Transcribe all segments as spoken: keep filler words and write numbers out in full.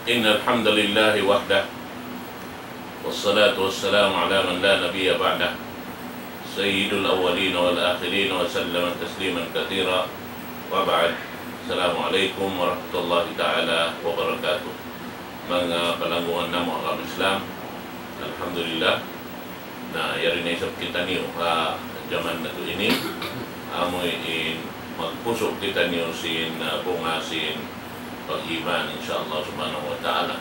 إن الحمد لله وحده، والصلاة والسلام على من لا نبي بعده، سيد الأولين والآخرين، وسلم تسليما كثيرا، وبعد. السلام عليكم ورحمة الله تعالى وبركاته. Manga palanggungan namu' ha agama Islam, alhamdulillah, na yari na isab kitaniyu ha jaman natu' ini, amu in magpusu' kitaniyu sin, ah, bunga sin pag-iman, insya Allah subhanahu wa ta'ala.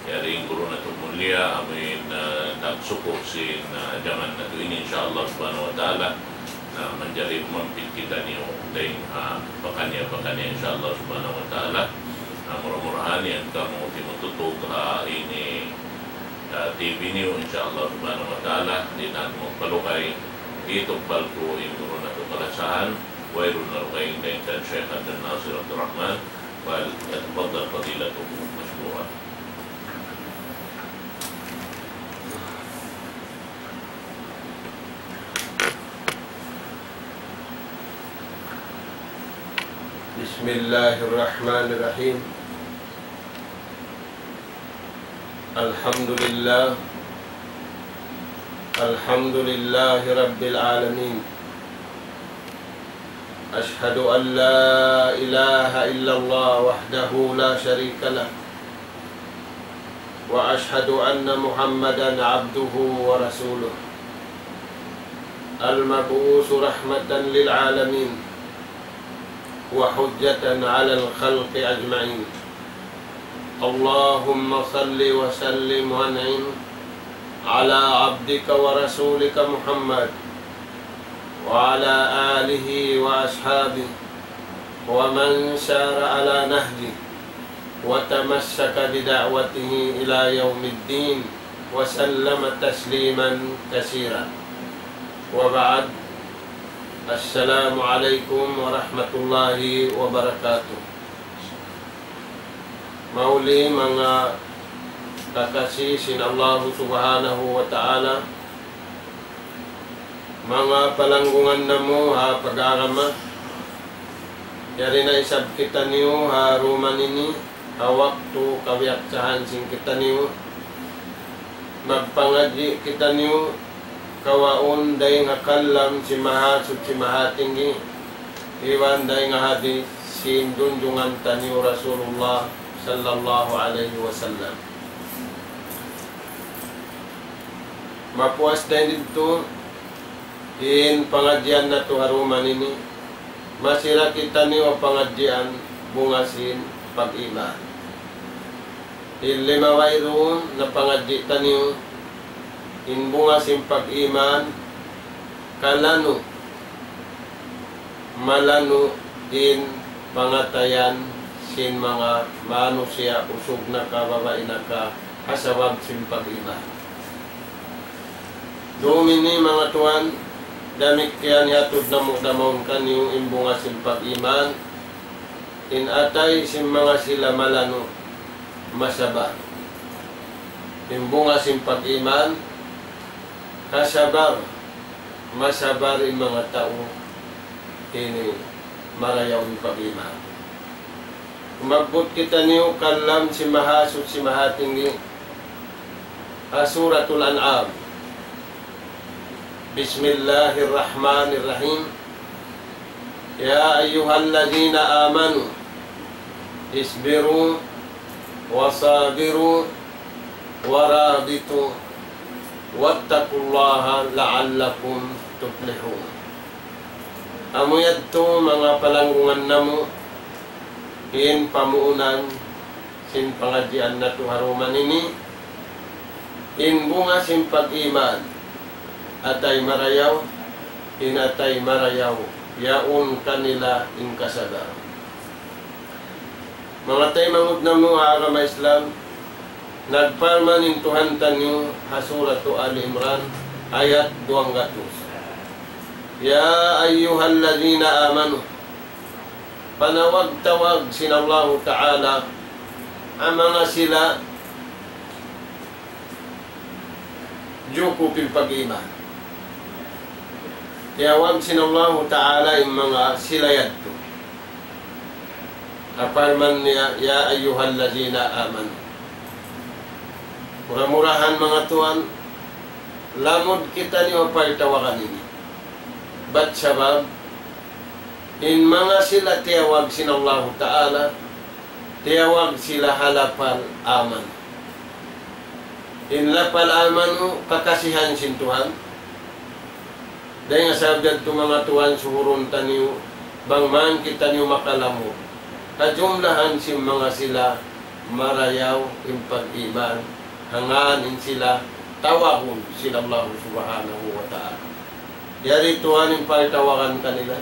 Yari in guru natu' mulia, amu in, ah, nagsuku' sin, ah, jaman natu' ini, insya Allah subhanahu wa ta'ala, na manjari humampit kitaniyu dayn ha pakaniya-pakaniya, insya Allah subhanahu wa ta'ala. Na mura-murahan yan kamu timututug ha ini, ah, T V niyu, insya Allah subhanahu wa ta'ala, di' na magpalugay, itugbal ku in guru natu' kalasahan, wayruun na lugay in dayn kan Sheikh Abdul Nasir Abdul Rahman, وليتفضل فضيلته مشكورا. بسم الله الرحمن الرحيم. الحمد لله. الحمد لله رب العالمين. أشهد أن لا إله إلا الله وحده لا شريك له، وأشهد أن محمدا عبده ورسوله، المبعوث رحمة للعالمين، وحجة على الخلق أجمعين. اللهم صل وسلم وأنعم على عبدك ورسولك محمد وعلى آله وأصحابه ومن سار على نهجه وتمسك بدعوته إلى يوم الدين وسلم تسليما كثيرا. وبعد، السلام عليكم ورحمة الله وبركاته. Mahuli manga kakasi sin Allahu Subhanahu wa Ta'ala, manga palanggungan namu' ha pag-agama, yari na isab kitaniyu ha dum ini, ha waktu kabiyaksahan sin kitaniyu, magpangadji' kitaniyu, kawaun dayn ha kalam sin Mahasuchi Mahatinggi, iban dayn ha hadith sin junjungan taniyu Rasulullah sallallahu alayhi wasallam. Mapuas dayn didtu in pangadjian natu' ha dum ini, masi da kitaniyu pangadjian bunga sin pag-iman. In lima wayruun na pangadji' taniyu, in bunga sin pag-iman, kalanu', malanu' in pangatayan sin manga manusiya', usug na ka, babai na ka, ha sabab sin pag-iman. Dum ini manga tuwan, damikkiyan hiyatud namu' da mawn kaniyu in bunga sin pag-iman, in atay sin manga sila malanu', masabar. In bunga sin pag-iman, kasabar, masabar in manga tau ini marayaw in pag-iman. Umabbut kitaniyu kalam sin Mahasuchi Mahatinggi ha Suratul An'am. بسم الله الرحمن الرحيم. يا أيها الذين آمنوا اصبروا وصابروا ورابطوا واتقوا الله لعلكم تفلحون. Amu yadtu manga palanggungan namu', in pamuunan sin pangadjian natu' ha dum ini, in bunga sin pag-iman, atay marayaw, in atay marayaw, yaun kanila in kasabar. Manga taymanghud namu' ha agama Islam, nagparman in Tuhan taniyu ha Suratu Ali Imran, ayat duwanggatus. يا أيها الذين آمنوا, panawag-tawag sin Allahu Ta'ala in manga sila jukup in pag-iman. Tiyawag sin Allahu Ta'ala in manga sila yadtu. Parman niya, يا أيها الذين آمنوا. Mura-murahan, manga tuwan, lamud kitaniyu ha pagtawagan ini. Bat sabab, in manga sila tiyawag sin Allahu Ta'ala, tiyawag sila ha lapal amanu. In lapal amanu, kakasihan sin Tuhan. Dayn ha sabab yadtu, manga tuwan, suhurun taniyu, bang man kitaniyu makalamud ha jumlahan sin manga sila marayaw in pag-iman, hangkan in sila tawagun sin Allahu Subhanahu wa Ta'ala. Yari tuwan in pagtawagan kanila,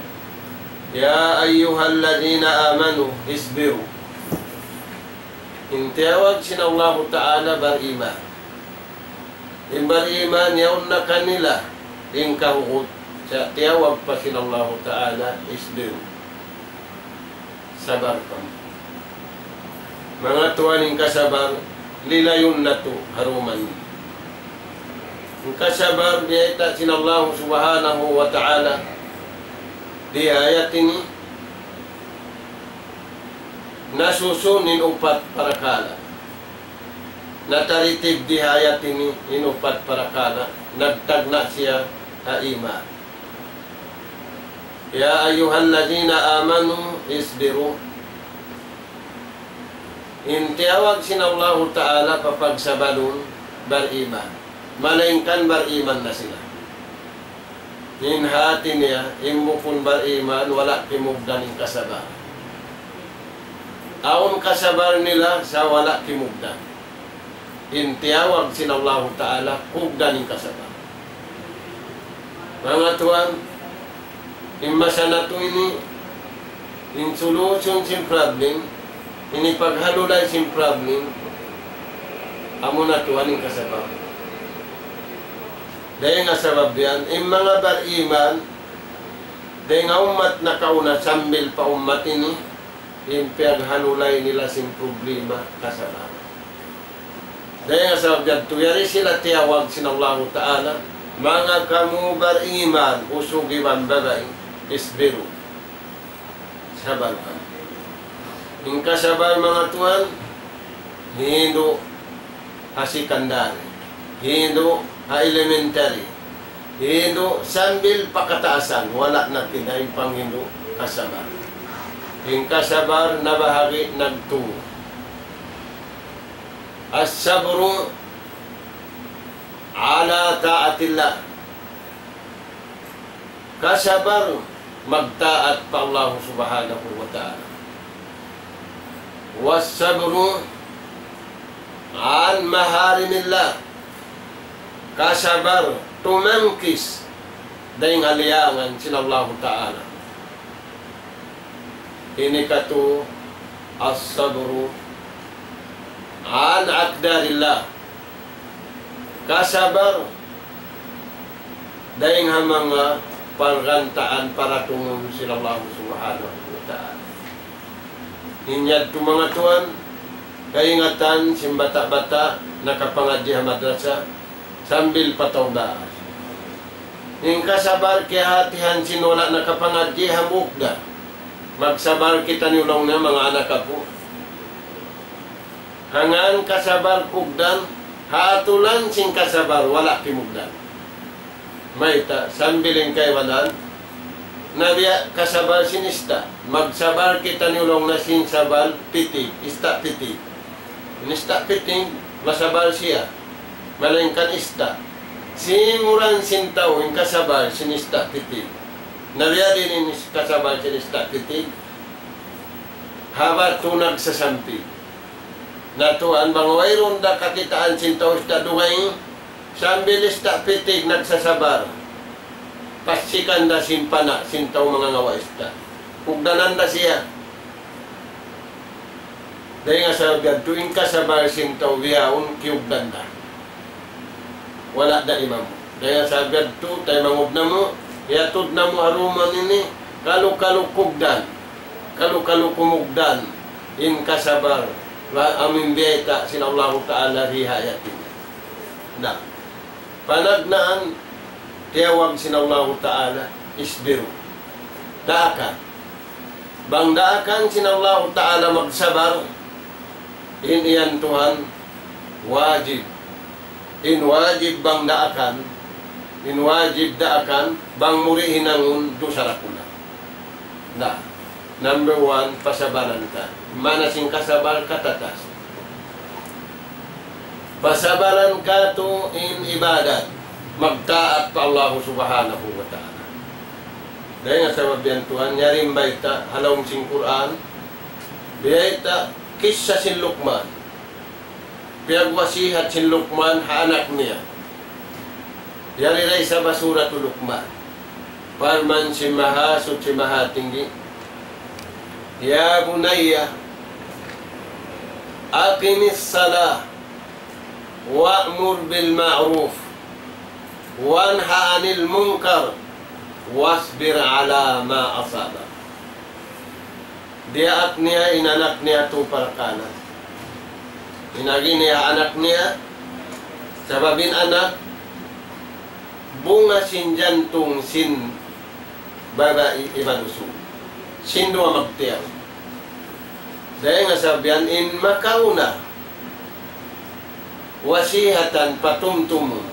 يا أيها الذين آمنوا اصبروا. In tiyawag sin Allahu Ta'ala bariman. In bariman, yaun na kanila in kahugut, sa' tiyawag pa sin Allahu Ta'ala, اصبروا. Sabar kamu. Manga tuwan, in kasabar, lilayun natu' ha duman. In kasabar, biyayta' sin Allahu Subhanahu wa Ta'ala di ha ayat ini, nasusun in upat parakala'. Nataritib di ha ayat ini in upat parakala', nagtagna' siya ha iman. يا أيها الذين آمنوا اصبروا. In tiyawag sin Allahu Ta'ala pa pagsabarun bariman. Malaingkan bariman na sila. In hati niya, in bukun bariman, wala' kimugdan in kasabar. Awn kasabar nila sa' wala' kimugdan. In tiyawag sin Allahu Ta'ala, kugdan in kasabar. Manga tuwan, in masa natu' ini, in solution sin problem, in hipaghalulay sin problem, amuna tuwan in kasabar. Dayn ha sabab yan, in manga bariman, dayn ha ummat nakauna sambil pa ummat ini, in piyaghalulay nila sin problema, kasabar. Dayn ha sabab yadtu, yari sila tiyawag sin Allahu Ta'ala, manga kamu bariman, usug iban babai, اصبروا. Sabar kamu. In kasabar, manga tuwan, hindu' ha secondary, hindu' ha elementary, hindu' sambil pa kataasan, wala' na pinain panghindu' kasabar. In kasabar nabahagi' nagtū. الصبر على طاعة الله. Kasabar magtaat pa Allah Subhanahu wa Ta'ala. والصبر عن محارم الله. Kasabar tumangkis dayn ha liyangan sin Allahu Ta'ala. Ini katu' الصبر عن أقدار الله. Kasabar dayn ha manga panggantaan paratungun sin Allah Subhanahu wa Ta'ala. In yadtu, manga tuwan, kaingatan sin bata'-bata' nakapangadji' ha madrasa sambil pa tau baas. In kasabar kiyahatihan sin wala' nakapangadji' hambuuk da. Magsabar kitaniyu laung niya, manga anak apu'. Hangkan kasabar kugdan, ha atulan sin kasabar wala' kimugdan. Mayta', sambil in kaibanan, na biya' kasabar sin ista'. Magsabar kitaniyu laung niya sin sabar pitig, ista' pitig. In ista' pitig, masabar siya. Malaingkan ista'. Singuran sin tau in kasabar sin ista' pitig. Na biya' diin in kasabar sin ista' pitig? Ha batu nagsasampig. Na tuwan, bang wayruun da kakitaan sin tau ista' dugaing, sambil ista' pitig nagsasabar. Passikan da sin pana' sin tau mangangawa' ista'. Kugdanan da siya. Dayn ha sabab yadtu in kasabar sin tau bihaun kiyugdan da. Wala' da imamu. Dayn ha sabab yadtu, taymanghud namu', hiyatud namu' ha duman ini, kalu-kalu kugdan, kalu-kalu kumugdan in kasabar, wa amin biyayta' sin Allahu Ta'ala di ha ayat ini. Na, panagnaan, tiyawag sin Allahu Ta'ala, اصبروا. Daakan. Bang daakan sin Allahu Ta'ala magsabar, in yan tuwan, wajib. In wajib bang daakan, in wajib daakan, bang mu di' hinangun dusa dakula'. Na, number one, pasabaran ka. Maana sin kasabal, katatas. Pasabaran katu' in ibadat, magtaat pa Allah Subhanahu wa Ta'ala. Dayn ha sabab yan tuwan, yari in bayta', ha lawm sin Qur'an, bayta' kissa sin Luqman. Piyagwasihat sin Luqman ha anak niya. Yari da isab ha Suratul Luqman. Parman sin Mahasuchi Mahatinggi, يا بني أقم الصلاة وأمر بالمعروف وانه عن المنكر واصبر على ما أصابك. Diyaak niya in anak niya tu parkala'. In agi niya anak niya, sabab in anak, bunga sin jantung sin babai iban usug. Sin duwa magtiyaun. Dayn ha sabab yan in makauna, wasihatan patumtumun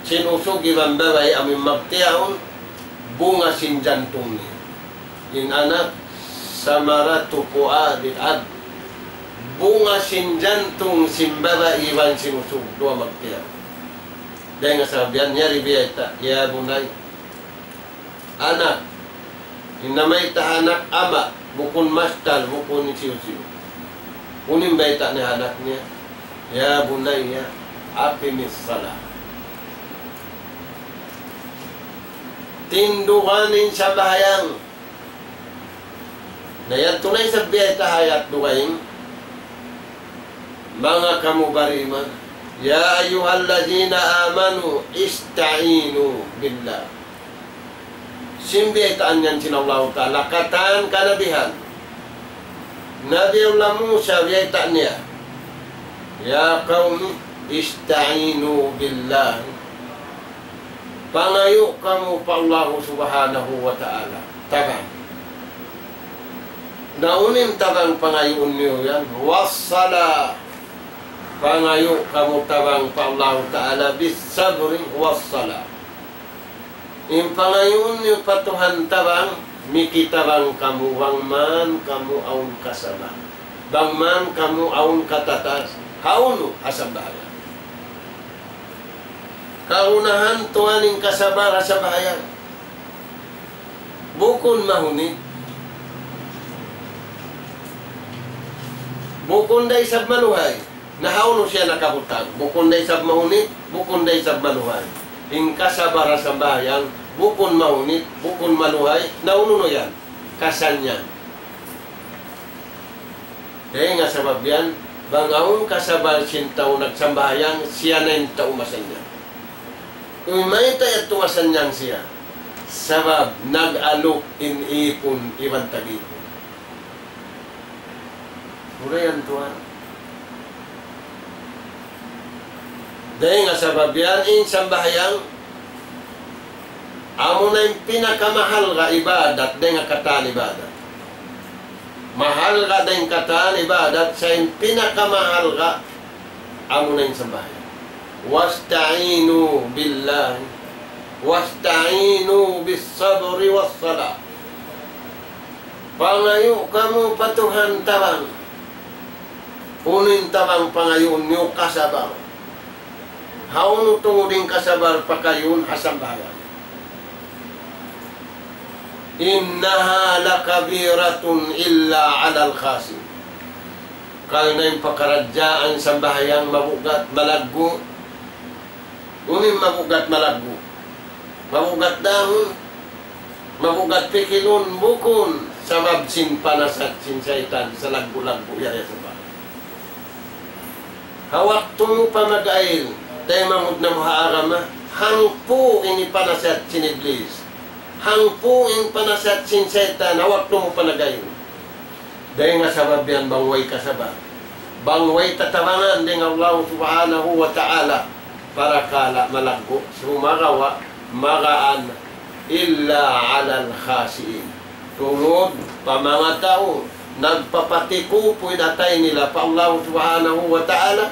sin usug iban babai amun magtiyaun, bunga sin jantung niya. In anak, ثمرة فؤاد الأب. Bunga sin jantung sin babai iban sin usug, duwa magtiyaun. Dayn ha sabab yan, yari biyayta', يا بني. Anak. In namayta' anak, ama', bukun mastal, bukun hisiyu-siyu. Unu in bayta' niya ha anak niya, يا بني أقم الصلاة. Tindugan in sambahayang. Na yadtu na isab biyayta' ha ayat dugaing, manga kamu bariman, يا أيها الذين آمنوا استعينوا بالله. Sin biyaytaan yan sin Allahu Ta'ala, katan kanabihan. Nabi Allah Musa biyayta' niya, يا قوم استعينوا بالله. Pangayu' kamu pa Allahu Subhanahu wa Ta'ala. Tabang. Na unu in tabang pangayuun niyu yan? والصلاة. Pangayu' kamu tabang pa Allahu Ta'ala بالصبر والصلاة. In pangayuun niyu pa Tuhan tabang, mikitabang kamu bang man kamu awn kasabal. Bang man kamu awn katatas. Hawnu? Ha sambahayang. Kagunahan tuwan in kasabal ha sambahayang. Bukun mahunit. Bukun da isab maluhay. Na hawnu siya nakabutang. Bukun da isab mahunit, bukun da isab maluhay. In kasabal ha sambahayang, bukun mahunit, bukun maluhay, na unu na yan? Kasannyangan. Dayn ha sabab yan, bang awn kasabal sin tau nagsambahayang, siya na in tau masannyang. Unu mayta' yadtu masannyang siya? Sabab nag-aluk in ipun iban tag-ipun. Mura yan tuwan. Dayn ha sabab yan in sambahayang, amuna in pinakamahalga' ibadat, dayn ha katan ibadat. Mahalga' dayn ha katan ibadat, sa' in pinakamahalga', amuna in sambahayang. واستعينوا بالله واستعينوا بالصبر والصلاة. Pangayu' kamu pa Tuhan tabang. Unu in tabang pangayuun niyu? Kasabal. Hawnu tungud in kasabal pakayuun? Ha sambahayang. إنها لكبيرة إلا على الخاشعين. Karna' in pakaradjaan sambahayang mabugat, malaggu'. Unu in mabugat, malaggu'? Mabugat dahun, mabugat pikilun, bukun sabab sin panasihat sin saytan, salaggu'-laggu' yari ha sambahayang. Ha waktu mu pa mag-ayil, taymanghud namu' ha agama, hangpu' in panasihat sin Iblis. Hangpu' in panasihat sin saytan, ha waktu mu pa nag-ayil. Dayn ha sabab yan bang way kasabal. Bang way tatabangan dayn ha Allah Subhanahu wa Ta'ala. Parakala' malaggu', sumagawa' magaan, إلا على الخاشعين. Tungud pa manga tau nagpapatikupu in atay nila pa Allah Subhanahu wa Ta'ala,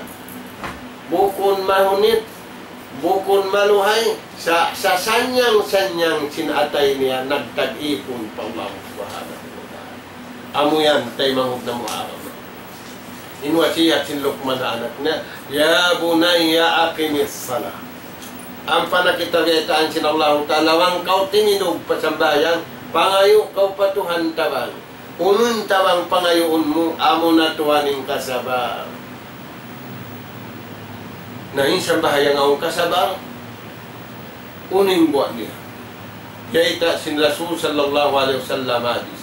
bukun mahunit, Bukun maluhay, sa-, sasanyang-sanyang sin atay niya nagtag-ipun pa Allah Subhanahu wa Ta'ala. Amu yan, taymanghud namu' agama. In wasiyat sin Luqman ha anak niya, "Ya bunayya aqimis salah." Ampa na kita biyaytaan sin Allahu Ta'ala, bang kaw timindug pa sambahayang, pangayu' kaw pa Tuhan ta bang. Unu in tabang pangayuun mu, amu na tuwan in kasabar. Na in sambahayang awn kasabar, unu in buwat niya? Kiyita' sin Rasul sallallahu alayhi wasallam hadis,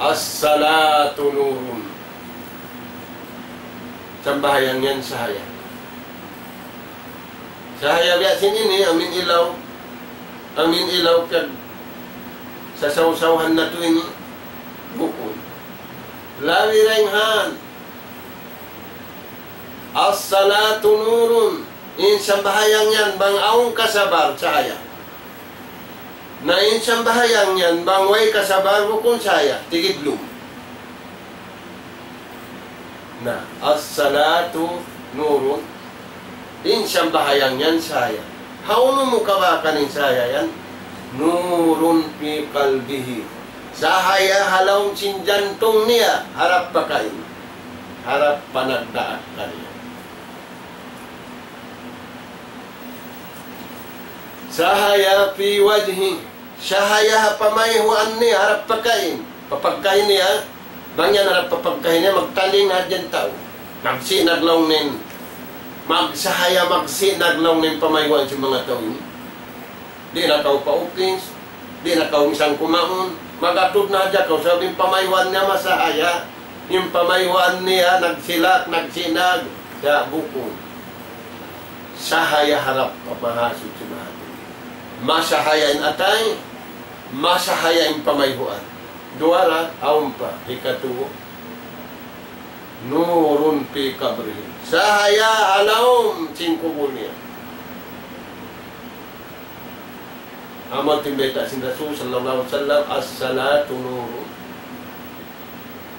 "As-salatu nurun." Sambahayang yan sahaya. Sahaya biya' sin ini, amin ilaw. Amin ilaw kag sasawsawhan natu' ini. Bukun. Labi dayn han. As-salatu nurun. In sambahayang yan, bang awn kasabar, sahaya. Na in sambahayang yan, bang way kasabar, bukun sahaya. Tigidlum. Na, as-salatu nurun. In sambahayang yan sahaya. Hawnu mu kabakan in sahaya yan? Nurun fi qalbihi. Sahaya ha lawm sin jantung niya, harap pa kain. Harap pa nagdaak kaniya. Sahaya fi wajhi. Sahaya ha pamayhuan niya harap pa kain. Pa pagkahi niya, bang yan harap pa pagkahi niya, magtaling na hadja in tau. Magsinag laung niya. Magsahaya, magsinag laung niya in pamayhuan sin manga tau ini. Di' na kaw pa upis, di' na kaw minsan kumaun. Mag-atud na hadja kaw, sabab in pamayhuan niya masahaya. In pamayhuan niya nagsilak, nagsinag, sa' bukun. Sahaya harap pa Mahasuchi Mahathini. Masahaya in atay, masahaya in pamayhuan. Duwa ra, awn pa, hikatu. Nurun fi qabrihi. Sahaya ha lawm sin kubul niya. Amu in bayta' sin Rasul sallallahu alayhi wasallam, "As-salatu nurun."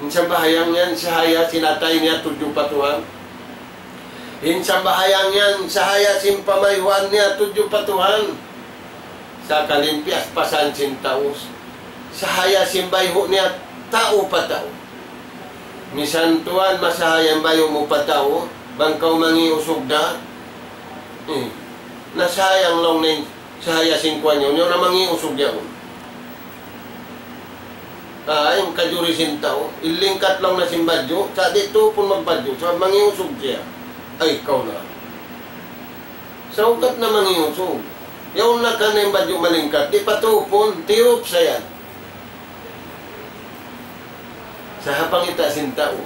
In sambahayang yan, sahaya sin atay niya tudju pa Tuhan. In sambahayang yan, sahaya sin pamayhuan niya tudju pa Tuhan. Sakali in piyaspasan sin tau, sahaya sin bayhu' niya tau pa tau. Misan tuwan, masahaya in bayhu' mu pa tau, bang kaw mangi' usug da. Eh, nasayang laung niya in sahaya sin kuwan yaun, yaun na mangi' usug yaun. Ah, in kajuri sin tau, in lingkat laung niya sin badju', sa' di' tuupun magbadju', sa' mangi' usug siya. Ay, kaw na. Sa' ugat na mangi' usug. Yaun na kan in badju' malingkat, di' pa tuupun, tiyup sa yan. Sa' ha pangita' sin tau.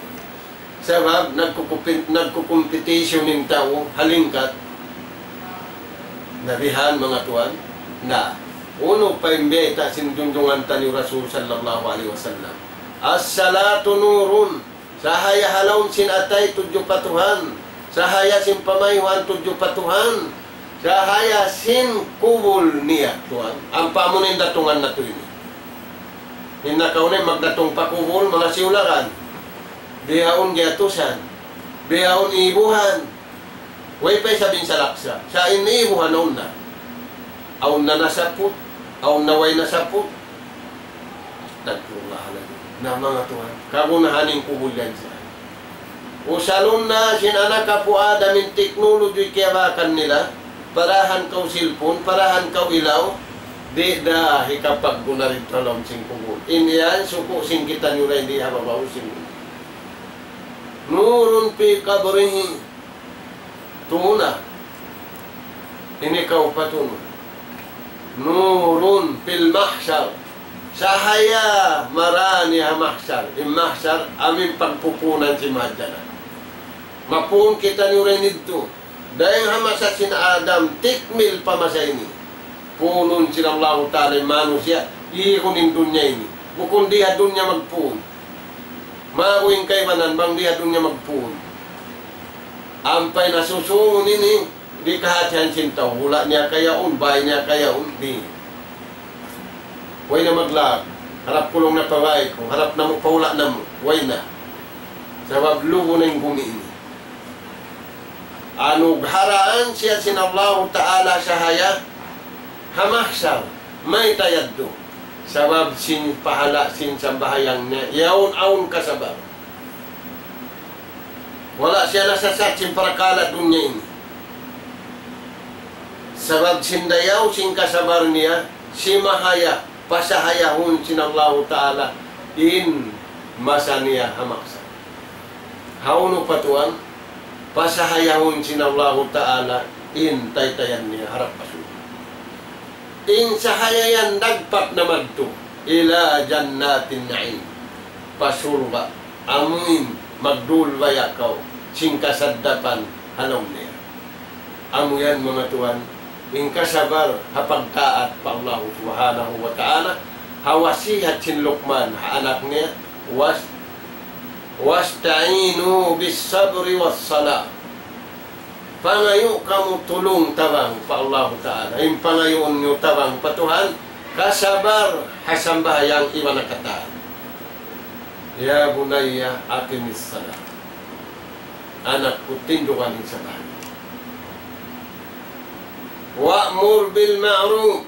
Sabab nagkukumpit-, nagkukumpitisyun in tau ha lingkat. Na bihan, manga tuwan, na unu pa in bayta' sin junjungan taniyu Rasul sallallahu alayhi wasallam. As-salatu nurun. Sahaya ha lawm sin atay tudju pa Tuhan. Sahaya sin pamayhuan tudju pa Tuhan. Sahaya sin kubul niya, tuwan. Ampa amu na in datungan natu' ini. In nakauna in magdatung pa kubul, manga siyulakan. Bihaun giyatusan. Bihaun ibuhan. Way pa isab in salaksa. Sa' in ibuhan awn na. Awn na nasaput. Awn na way nasaput. Astagfirullahaladzim. Na manga tuwan. Kagunahan in kubul yan sa. Usalun na sin anak apu' Adam in technology kiyabakan nila, parahan kaw cellphone, parahan kaw ilaw, di' da hikapagguna didtu ha lawm sin kubul. In yan, suku' sin kitaniyu ra in di ha babaw sin. Nurun fi qabrihi. Tuna. Ini kaw patunu. Nurun fil mahsyar. Sahaya marani ha mahsyar. In mahsyar, amu in pagpupunan sin mahadjana. Mapuun kitaniyu dayn didtu. Dayn ha masa sin Adam, tikmil pa masa ini. Puunun sin Allahu Ta'ala in manusiya', ihun in dunya ini. Bukun di ha dunya magpuun. Mabu in kaibanan, bang di ha dunya magpuun. Ampa in asusungun ini, di' kahatihan sin tau, hula' niya kayaun, bay niya kayaun, di'. Way na maglag, harap kulung na pa bay ku, harap namu' pa hula' namu', way na. Sabab lubu na in gumi ini. Anugharaan siya sin Allahu Ta'ala sahaya ha mahsar. Mayta' yadtu? Sabab sin pahala' sin sambahayang niya, yaun awn kasabar. Wala' siya nasasat sin parakala' dunya ini. Sabab sin dayaw sin kasabar niya, simahaya, pasahayahun sin Allahu Ta'ala in masa niya ha mahsar. Hawnu pa tuwan, pasahayahun sin Allahu Ta'ala in taytayan niya harap pa surga'. In sahaya yan dagpak na madtu, ila jannatin na'im. Pa surga', amuin magdulbaya kaw sin kasaddapan ha lawm niya. Amu yan, manga tuwan, in kasabar ha pagtaat pa Allahu Subhanahu wa Ta'ala, ha wasihat sin Luqman ha anak niya, was-, "Wasta'inu bis sabri was salah." Pangayu' kamu tulung tabang pa Allahu Ta'ala. In pangayuun niyu tabang pa Tuhan, kasabar ha sambahayang iban ha katan. Ya bunayya, aqimis salah. Anak ku, tindugan in sambahayang. Wa'mur bil ma'ruf.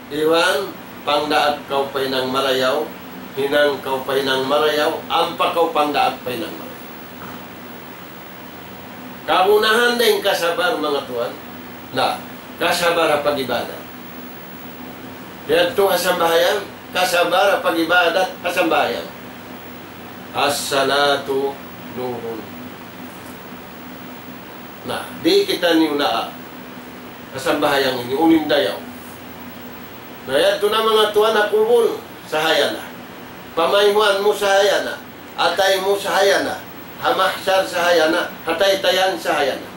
Iban, pangdaak kaw pa hinang marayaw, hinang kaw pa hinang marayaw, ampa kaw pangdaak pa hinang marayaw. Kagunahan da in kasabar, manga tuwan. Na, kasabar ha pag-ibadat. Yadtu ha sambahayang, kasabar ha pag-ibadat, ha sambahayang. As-salatu nurun. Na, di' kitaniyu naa ha sambahayang ini, unu in dayaw. Na, yadtu na, manga tuwan, ha kubul, sahaya na. Pamayhuan mu, sahaya na. Atay mu, sahaya na. Ha mahsar, sahaya na. Ha taytayan, sahaya na.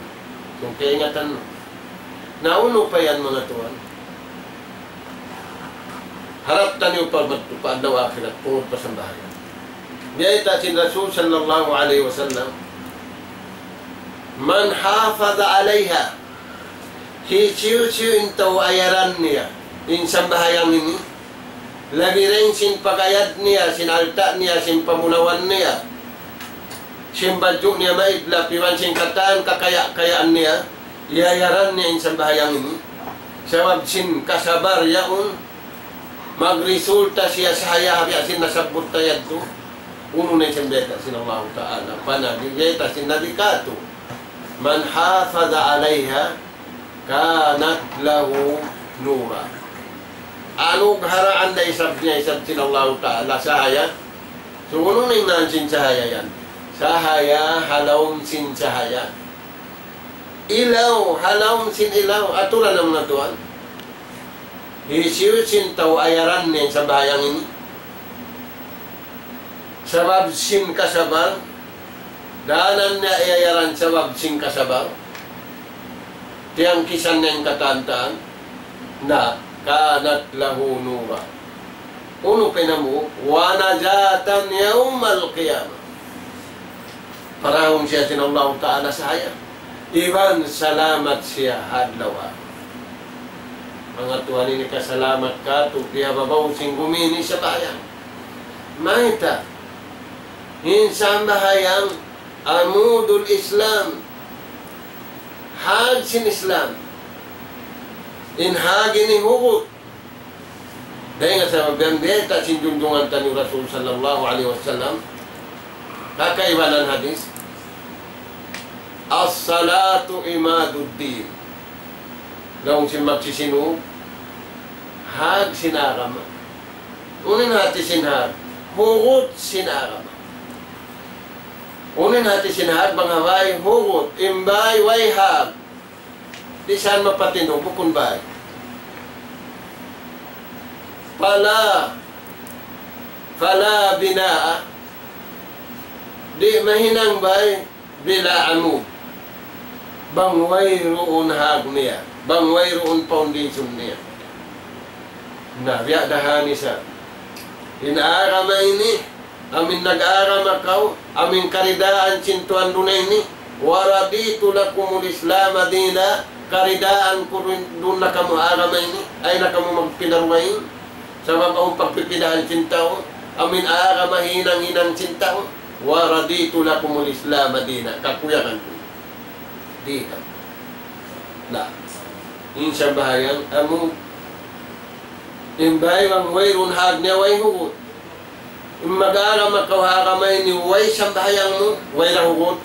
So, kaingatan mu. Na, unu pa yan, manga tuwan? Harap taniyu pa madtu pa adlaw akhirat, tungud pa sambahayang. Biyayta' sin Rasul sallallahu alayhi wasallam, "Man hafaza alayha," hisiyu-siyu in tau ayaran niya in sambahayang ini, labi dayn sin pag-ayad niya, sin alta' niya, sin pamunawan niya, sin badju' niya maidlap, iban sin katan kakaya-kayaan niya, iyayaran niya in sambahayang ini. Sabab sin kasabar yaun, magresulta siya sahaya ha biya' sin nasabbut ta yadtu. Unu na in biyayta' sin Allahu Ta'ala pa Nabi, biyayta' sin Nabi katu', "Man hafaza alayha kanat lahu nura." Anugharaan da isab niya isab sin Allahu Ta'ala sahaya. So, unu na in ngan sin sahaya yan? Sahaya ha lawm sin sahaya. Ilaw, ha lawm sin ilaw. Aturan na, manga tuwan. Hisiyu-siyu in tau ayaran niya in sambahayang ini, sabab sin kasabar, dayn ha niya iyayaran sabab sin kasabar, tiyangkisan niya in katan-katan, na, kanat lahu nura. Unu pa in hambuuk? Wa najatan yawmal qiyamah. Parahun siya sin Allahu Ta'ala sahaya. Iban salamat siya ha adlaw akhirat. Manga tuwan, ini kasalamat katu', kiyababaw sin gumi ini sambahayang. Mayta'? In sambahayang amudul Islam. Hag sin Islam. In hag ini hugut. Dayn ha sabab yan, biyayta' sin junjungan taniyu Rasul sallallahu alayhi wasallam, ha kaibanan hadith, "As-salatu imaduddin." Laung sin magsisinug, hag sin agama. Unu in hati sin hag? Hugut sin agama. Unu in hati sin hag? Bang ha bay, hugut. In bay, way hag. Di' sa yan mapatindug, bukun bay. Fala, fala binaa. Di' mahinang bay bila amud. Bang wayruun hag niya. Bang wayruun foundation niya. Na, biya' da ha ini sa. In agama ini, amu in nag-agama kaw, amu in karidaan sin Tuhan duun ini, wa raditu lakumul Islama dina, karidaan ku duun, duun na kamu agama ini, ayaw na kamu magpinda dugaing, sabab awn pagpipidahan sin tau, amu in agama hinang-hinang sin tau, wa raditu lakumul Islama dina, kakuyagan ku. Di' ka. Na. In sambahayang amu, in bang wayruun hag niya way hugut. In mag-agama kaw ha agama ini way sambahayang mu, way da hugut.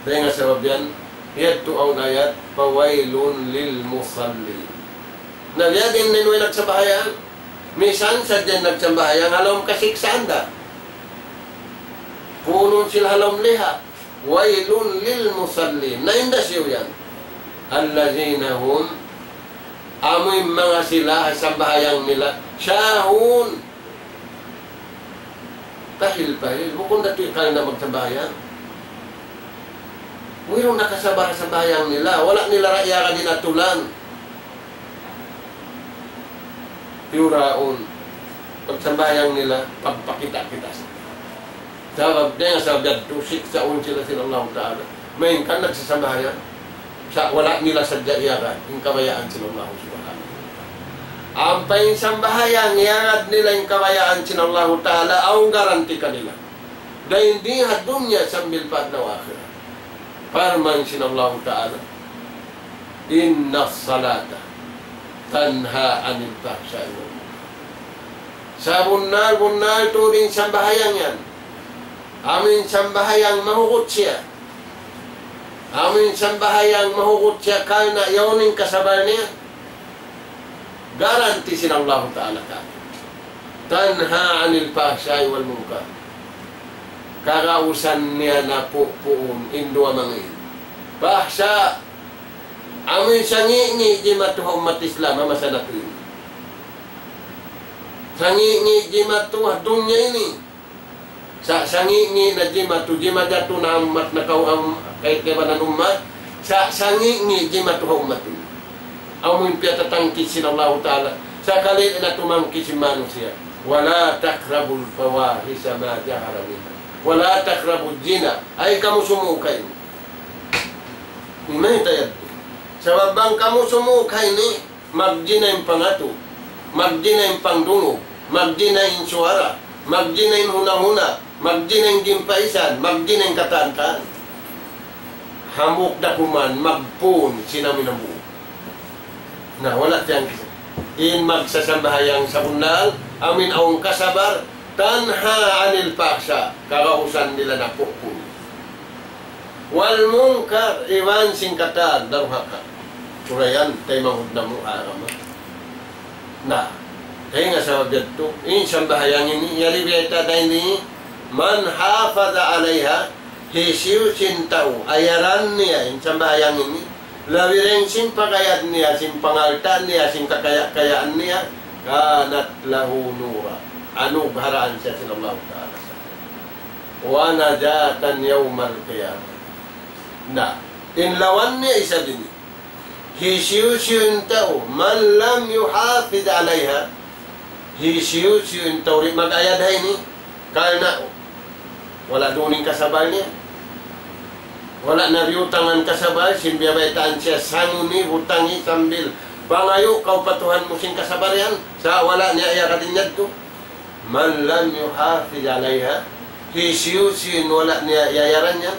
Dayn ha sabab yan, yadtu awn ayat, فويل للمصلين. Na biya' diin in way nagsambahayang, misan sadja in nagsambahayang, ha lawm kasiksaan da. Puunun sila ha lawm liha. ويل للمصلين. Na in hisiyu yan? الذين هم, amu in manga sila ha sambahayang nila, ساهون. Pahil-pahil, bukun da tuud karna' magsambahayang. Wayruun nakasabar ha sambahayang nila, wala' nila ra iyagad in atulan. يراءون. Pagsambahayang nila, pagpakita'-kita' sa. Sabab, dayn ha sabab yadtu, siksaun sila sin Allahu Ta'ala. Malayngkan nagsasambahayang, sa' wala' nila sadja iyagad in kabayaan sin Allahu Subhanahu wa Ta'ala. Ampa in sambahayang iyagad nila in kabayaan sin Allahu Ta'ala, awn garanti kanila. Dayn di ha dunya sambil pa adlaw akhirat. Parman sin Allahu Ta'ala, إن الصلاة تنهى عن الفحشاء والمنكر. Sabunnal-bunnal tuud in sambahayang yan. Amu in sambahayang mahugut siya. Amu in sambahayang mahugut siya karna' yaun in kasabal niya. Garanti sin Allahu Ta'ala katu'. تنهى عن الفحشاء والمنكر. Kagausan niya napupuun in duwa manga ini. Fahsha', amu in sangi'-ngi' jimatu ha ummat Islam ha masa natu' ini. Sangi'-ngi' jimatu ha dunya ini. Sa' sangi'-ngi' na jimatu, jimajatu na ha ummat nakaw-, am-, kay-, kaibanan ummat. Sa' sangi'-ngi' jimatu ha ummat ini. Amu in piyatatangkis sin Allahu Ta'ala. Sakali na tumangkis in manusiya'. ولا تقربوا الفواحش ما ظهر منها ولا تقربوا الزنا. Ayaw kamu sumūd ha ini. Iman tayad. Sabab bang kamu sumūd ha ini, magjina in pangatu, magjina in pangdungug, magjina in suwara, magjina in huna-huna, magjina in gimpaisan, magjina in katan-katan. Hambuuk da kuman, magpun, sinamin hambuuk. Na, wala' tiyangkis. In magsasambahayang sabunnal, amu in awn kasabar, تنهى عن الفحشاء, kagausan nila napupuun. والمنكر, iban sin katan, daruhaka. Surayan, taymanghud namu' agama. Na, dayn ha sabab yadtu, in sambahayang ini, yari biya' ta dayn ini, من حافظ عليها, hisiyu-siyu in tau, ayaran niya, in sambahayang ini, labi dayn sin pag-ayad niya, sin pangalta' niya, sin kakaya-kayaan niya, كانت له نورا. Anugharaan siya sin Allahu Ta'ala. ونجاة يوم القيامة. Na, in lawan niya isab ini. Hisiyu-siyu in tau, من لم يحافظ عليها. Hisiyu-siyu in tau di' mag-ayad ha ini. Karna' wala' duun in kasabal niya. Wala' na biyutangan kasabal, sin biyabaytaan siya, sangu ini, butangi sambil pangayu' kaw pa Tuhan mu sin kasabal yan. Sa' wala' niya iyagad in yadtu. من لم يحافظ عليها, hisiyu-siyu in wala' niya iyayaran yan,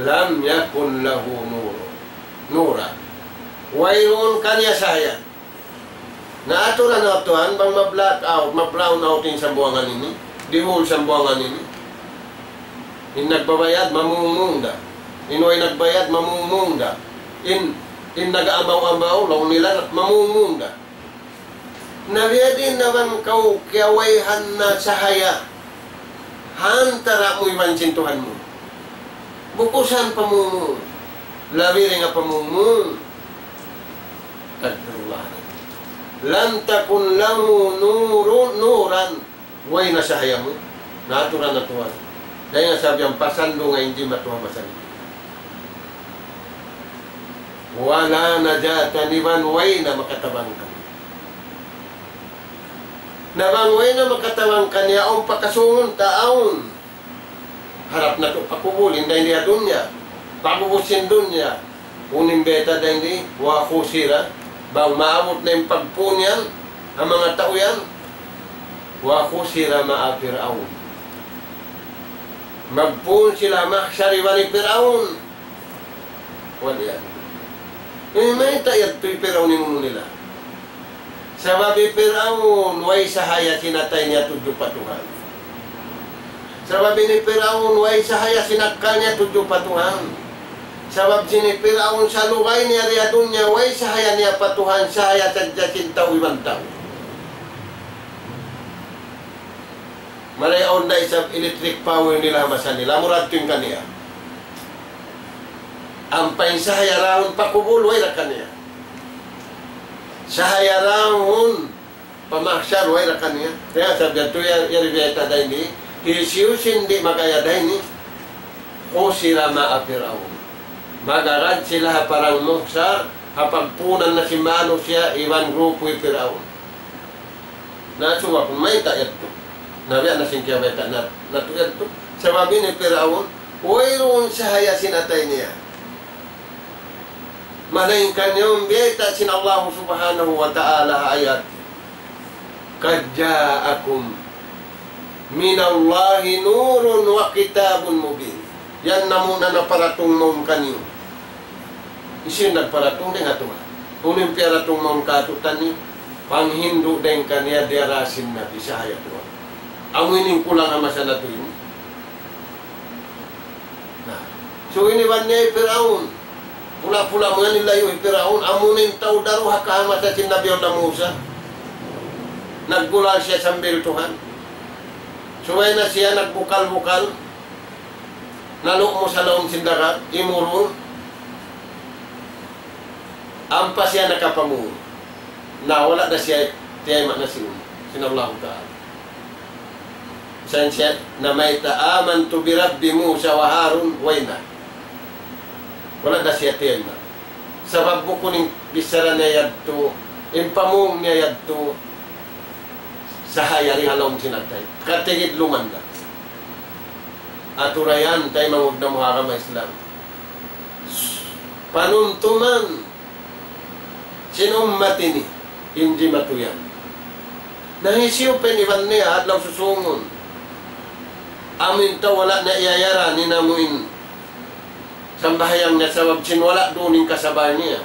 لم يكن له نور, نورا. Wayruun kaniya sahaya. Na aturan na Tuhan, bang ma-black out, ma-brown out in sambuwangan ini, dihul sambuwangan ini. In nagbabayad, mamungmung da. In way nagbayad, mamungmung da. In, in nag-amaw-amaw, laung nila, mamungmung da. Na biya' diin na bang kaw kiyawayhan na sahaya ha antara' mu iban sin Tuhan mu. Bukusan pamungmung. Labi dayn ha pamungmung. Astagfirullah. لم تكن له نور, نورا. Way na sahaya mu, na aturan na Tuhan. Dayn ha sabab yan pasal lu ngayn jimatu ha masa ini. ولا نجاة, iban way na makatabang kaniya. Na bang way na makatabang kaniya, awn pa kasūngun ta, awn. Harap natu' pakubulin dayn di ha dunya. Pag'ubus sin dunya. Unu in bayta' dayn di, وحشر, bang maabut na in pagpun yan, ha manga tau yan, وحشر مع فرعون. Magpun sila mahsar iban hi Piraun. Wal iyad. Eh, mayta' yadtu hi Piraun in unu nila? Sabab hi Piraun, way sahaya sin atay niya tudju pa Tuhan. Sabab hi Piraun, way sahaya sin akkal niya tudju pa Tuhan. Sabab hi Piraun sa lugay niya di ha dunya, way sahaya niya pa Tuhan, sahaya sadja sin tau iban tau. Marayaw da isab electric power nila ha masa nila, murad tuud kaniya. Ampa in sahaya dahun pa kubul, way da kaniya. Sahaya dahun pa mahsar, way da kaniya. Kaya sabab yadtu ya, ya ribiyata da ini, hisiyu sin di' makaya da ini, khusira ma'a Fir'aun. Magarad sila ha parang mahsar, ha pagpunan na sin manusiya', iban grupu hi Piraun. Na, suwa kunu' mayta' yadtu. Na, biya' na sin kiyabayta' na, natu' yadtu. Sabab hi Piraun, wayruun sahaya sin atay niya. Malaingkan yaun biyayta' sin Allah Subhanahu wa Ta'ala ayat. قد جاءكم من الله نور وكتاب مبين. Yan na muna naparatung mawn kaniyu. Hisiyu in nagparatung? Dayn ha Tuhan. Unu in piyaratung mawn kātu'niyu? Panghindu' dayn kaniya diyara sin Nabi, sahaya Tuhan. Amu ini in kulang ha masa natu' ini. Na. So, iniwan niya hi Piraun. Pula-pula mu yan, ilayu' hi Piraun. Amu na in tau daruhaka ha masa sin Nabi Allah Musa. Naggulal siya sambil Tuhan. Subay na siya nagbukal-bukal. Nalu'mus ha lawm sin dagat, imurul. Ampa siya nakapamung. Na wala' da siya tiyayma' na sin, sin Allahu Ta'ala. Misan siya namayta', آمنت برب موسى وهارون, way na. Wala' da siya tiyayma'. Sabab bukun in bichara niya yadtu, in pamung niya yadtu, sahaya di ha lawm sin atay. Katigid lumanda. Atura yan, taymanghud namu' ha agama Islam. Panumtuman sin ummat ini, in jimatu yan. Na hisiyu pa in iban niya, adlaw susūngun. Amu in tau wala' niya iyayaran in amu in sambahayang niya sabab sin wala' duun in kasabal niya.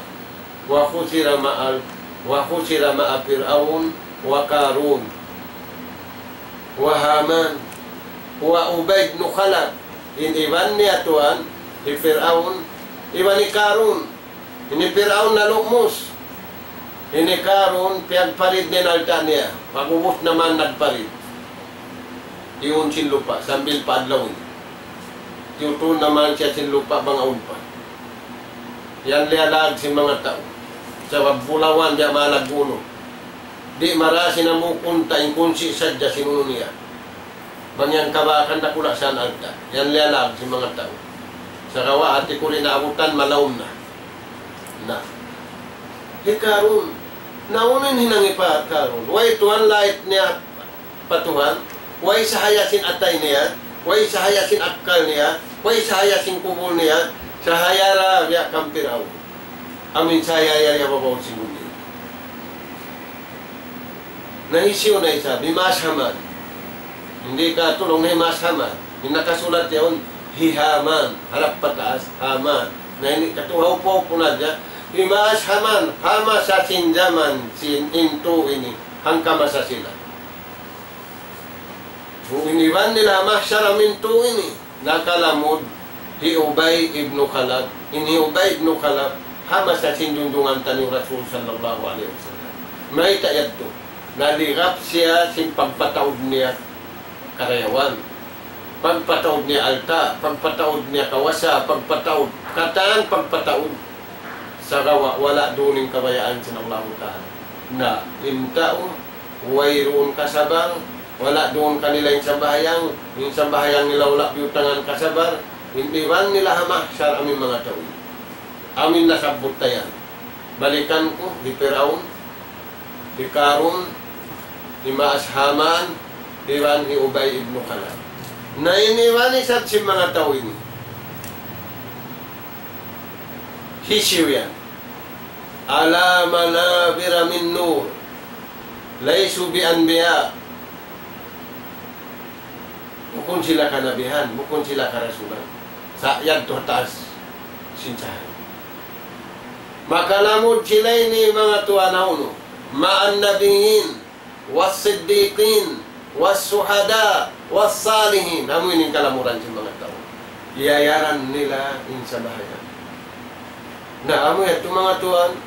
وحشر مع، وحشر مع فرعون وقارون وهامان وأبي بن خلف. In iban niya tuwan, hi Fir'aun, iban hi Karun. Ini Fir'aun nalu'mus. Ini Karun, piyagparid niya in alta' niya. Pag'ubus naman nagparid. Tiyun sin lupa', sambil pa adlaw ini. Tiyutun naman siya sin lupa' bang awn pa. Yan liyalag sin manga tau. Sabab bulawan biya' malag unu. Di' mara sin amu kunta in kunsi sadja sin unu niya. Bang yan kabakan dakula' sa alta'. Yan liyalag sin manga tau. Sagawa' hati ku di' naabutan malaum na. Na. Hi Karun. Na unu in hinang hi pa Karun. Way tuwan lait niya pa Tuhan, way sahaya sin atay niya, way sahaya sin akkal niya, way sahaya sin kubul niya, sahaya ra biya' kan Piraun. Amu in sahaya yari ha babaw sin bumi. Na hisiyu na isab? Himaas Haman. Di' katulung na himaas Haman. In nakasulat yaun, hi Haman. Harap pataas, Haman. Na ini katu' ha upa-upa na hadja. Himaas Haman. Ha masa sin jaman sin in tū ini. Hangka masa sila. Iniwan nila ha mahsar amu in tū ini. Nakalamud hi Ubay ibn Khalaf. In hi Ubay ibn Khalaf, ha masa sin junjungan taniyu Rasul sallallahu alayhi wasallam. Mayta' yadtu? Naligap siya sin pagpataud niya karayawan. Pagpataud niya alta', pagpataud niya kawasa, pagpataud, katan pagpataud. Sagawa' wala' duun in kabayaan sin Allahu Ta'ala. Na, in tau, wayruun kasabal, wala' duun kanila in sambahayang, in sambahayang nila wala' biyutangan kasabal, in iban nila ha mahsar amu in manga tau. Amu in nasabbut ta yan. Balikan ku, hi Piraun, hi Karun, himaas Haman, iban hi Ubay ibn Khalaf. Na in iban isab sin manga tau ini. Hisiyu yan? على منابر من نور. ليسوا بأنبياء. Bukun sila kanabihan, bukun sila karasulan. Sa' yadtu ha taas sin cahaya. Makalamud sila ini manga tuwan ha unu. مع النبيين والصديقين والشهداء والصالحين. Amu ini in kalamuran sin manga tau. Iyayaran nila in sambahayang. Na, amu yadtu manga tuwan,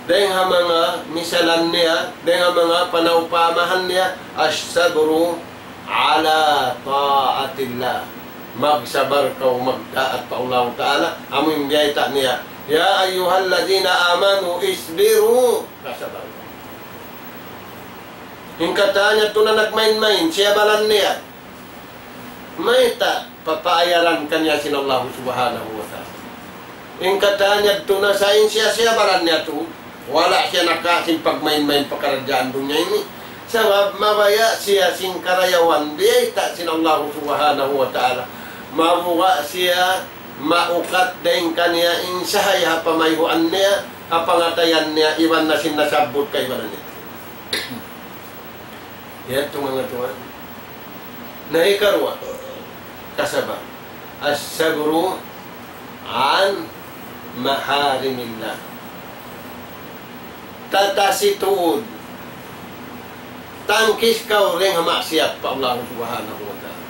dayng ha manga misalan niya, dayng ha manga panawpamahan niya, الصبر على طاعة الله. Magsabar kaw magtaat pa Allahu Ta'ala, amu in biyayta' niya, يا أيها الذين آمنوا اصبروا. Magsabar kaw. In katan yadtu na nagmain-main, siyabalan niya. Mayta' papaayaran kaniya sin Allahu Subhanahu wa Ta'ala. In katan yadtu na sa' in siya, siyabalan niya tuud. Wala' siya nakawa' sin pagmain-main pakaradjaan dunya ini. Sabab mabaya' siya sin karayawan biyayta' sin Allahu Subhanahu wa Ta'ala. Mabuga' siya maukat dayng kaniya in sahaya ha pamayhuan niya, ha pangatayan niya, iban na sin nasabbut kaibanan niya. Yadtu manga tuwan. Na hikaruwa, kasabar. الصبر عن محارم الله. Tatasi tuud. Tangkis kaw dayng ha maksiyat pa Allah Subhanahu wa Ta'ala.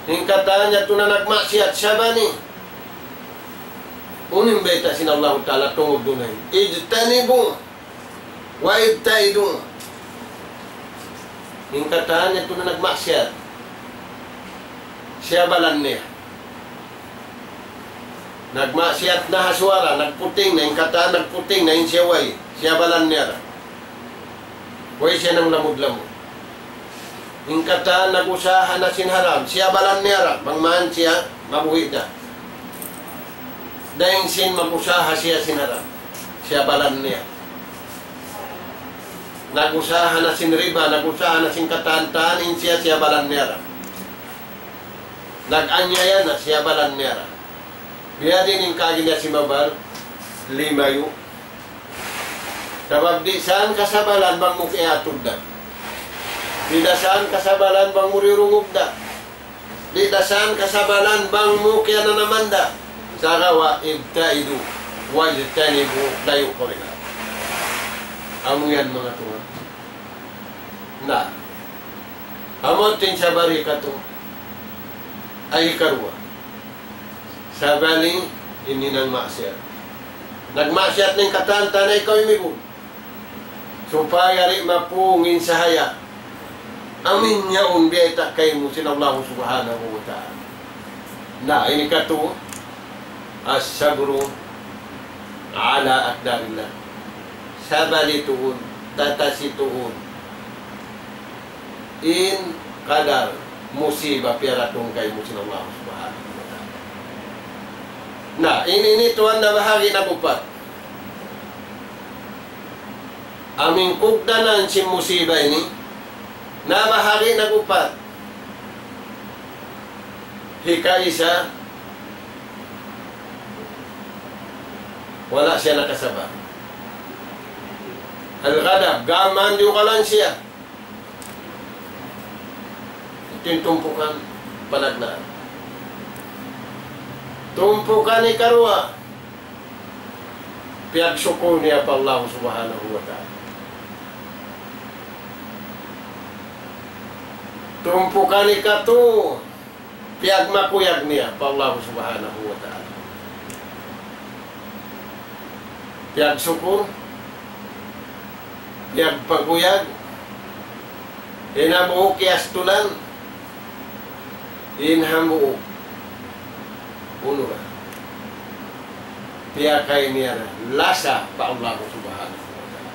In katan yadtu na nagmaksiyat, sabani. Unu in bayta' sin Allahu Ta'ala tungud duun ini. اجتنبوا وابتعدوا. In katan yadtu na nagmaksiyat, siyabalan niya. Nagmaksiyat na ha suwara, nagputing na, in katan nagputing na, in siya way, siyabalan niya ra. Way siya nanglamud-lamud. In katan nag-usaha na sin haram, siyabalan niya ra, bang man siya mabuhi' da. Dayng sin mag-usaha siya sin haram, siyabalan niya. Nag-usaha na sin riba, nag-usaha na sin katan-katan, in siya, siyabalan niya ra. Nag-anyaya na, siyabalan niya ra. Biya' diin in kaagi niya simabal, limayu'. Sabab di' san kasabalan bang mu kiyatud da. Di' da san kasabalan bang mu diyurungug da. Di' da san kasabalan bang mu kiyananaman da. Sagawa' ابتعدوا واجتنبوا, layu' kaw dayn ha. Amu yan manga tuwan. Na. Amu in sabari katu'. Ay hikaruwa. Sabali in hinang maksiyat. Nagmaksiyat na in katan-katan, ikaw imibun. Supaya di' mapung in sahaya. Amu in yaun biyayta' kaymu sin Allah Subhanahu wa Ta'ala. Na, ini katu', الصبر على أقدار الله. Sabali tuud, tatasi tuud. In kadar musiba piyaratung kaymu sin Allah Subhanahu wa Ta'ala. Na, ini, ini tuwan nabahagi' nagupat. Amu in kugdanan sin musiba ini, nabahagi' nagupat. Hikaisa, wala' siya nakasabar. Al-ghadab, gām, diyugalan siya. Yadtu in tumpukan panagnaan. Tumpukan hikaruwa, piyagsukul niya pa Allah Subhanahu wa Ta'ala. Tumpukan hikatu, piyagmakuyag niya pa Allah Subhanahu wa Ta'ala. Piyagsukul, piyagpakuyag, in hambuuk kiyastulan, in hambuuk unu ra, piyakay niya ra lasa pa Allah Subhanahu wa Ta'ala.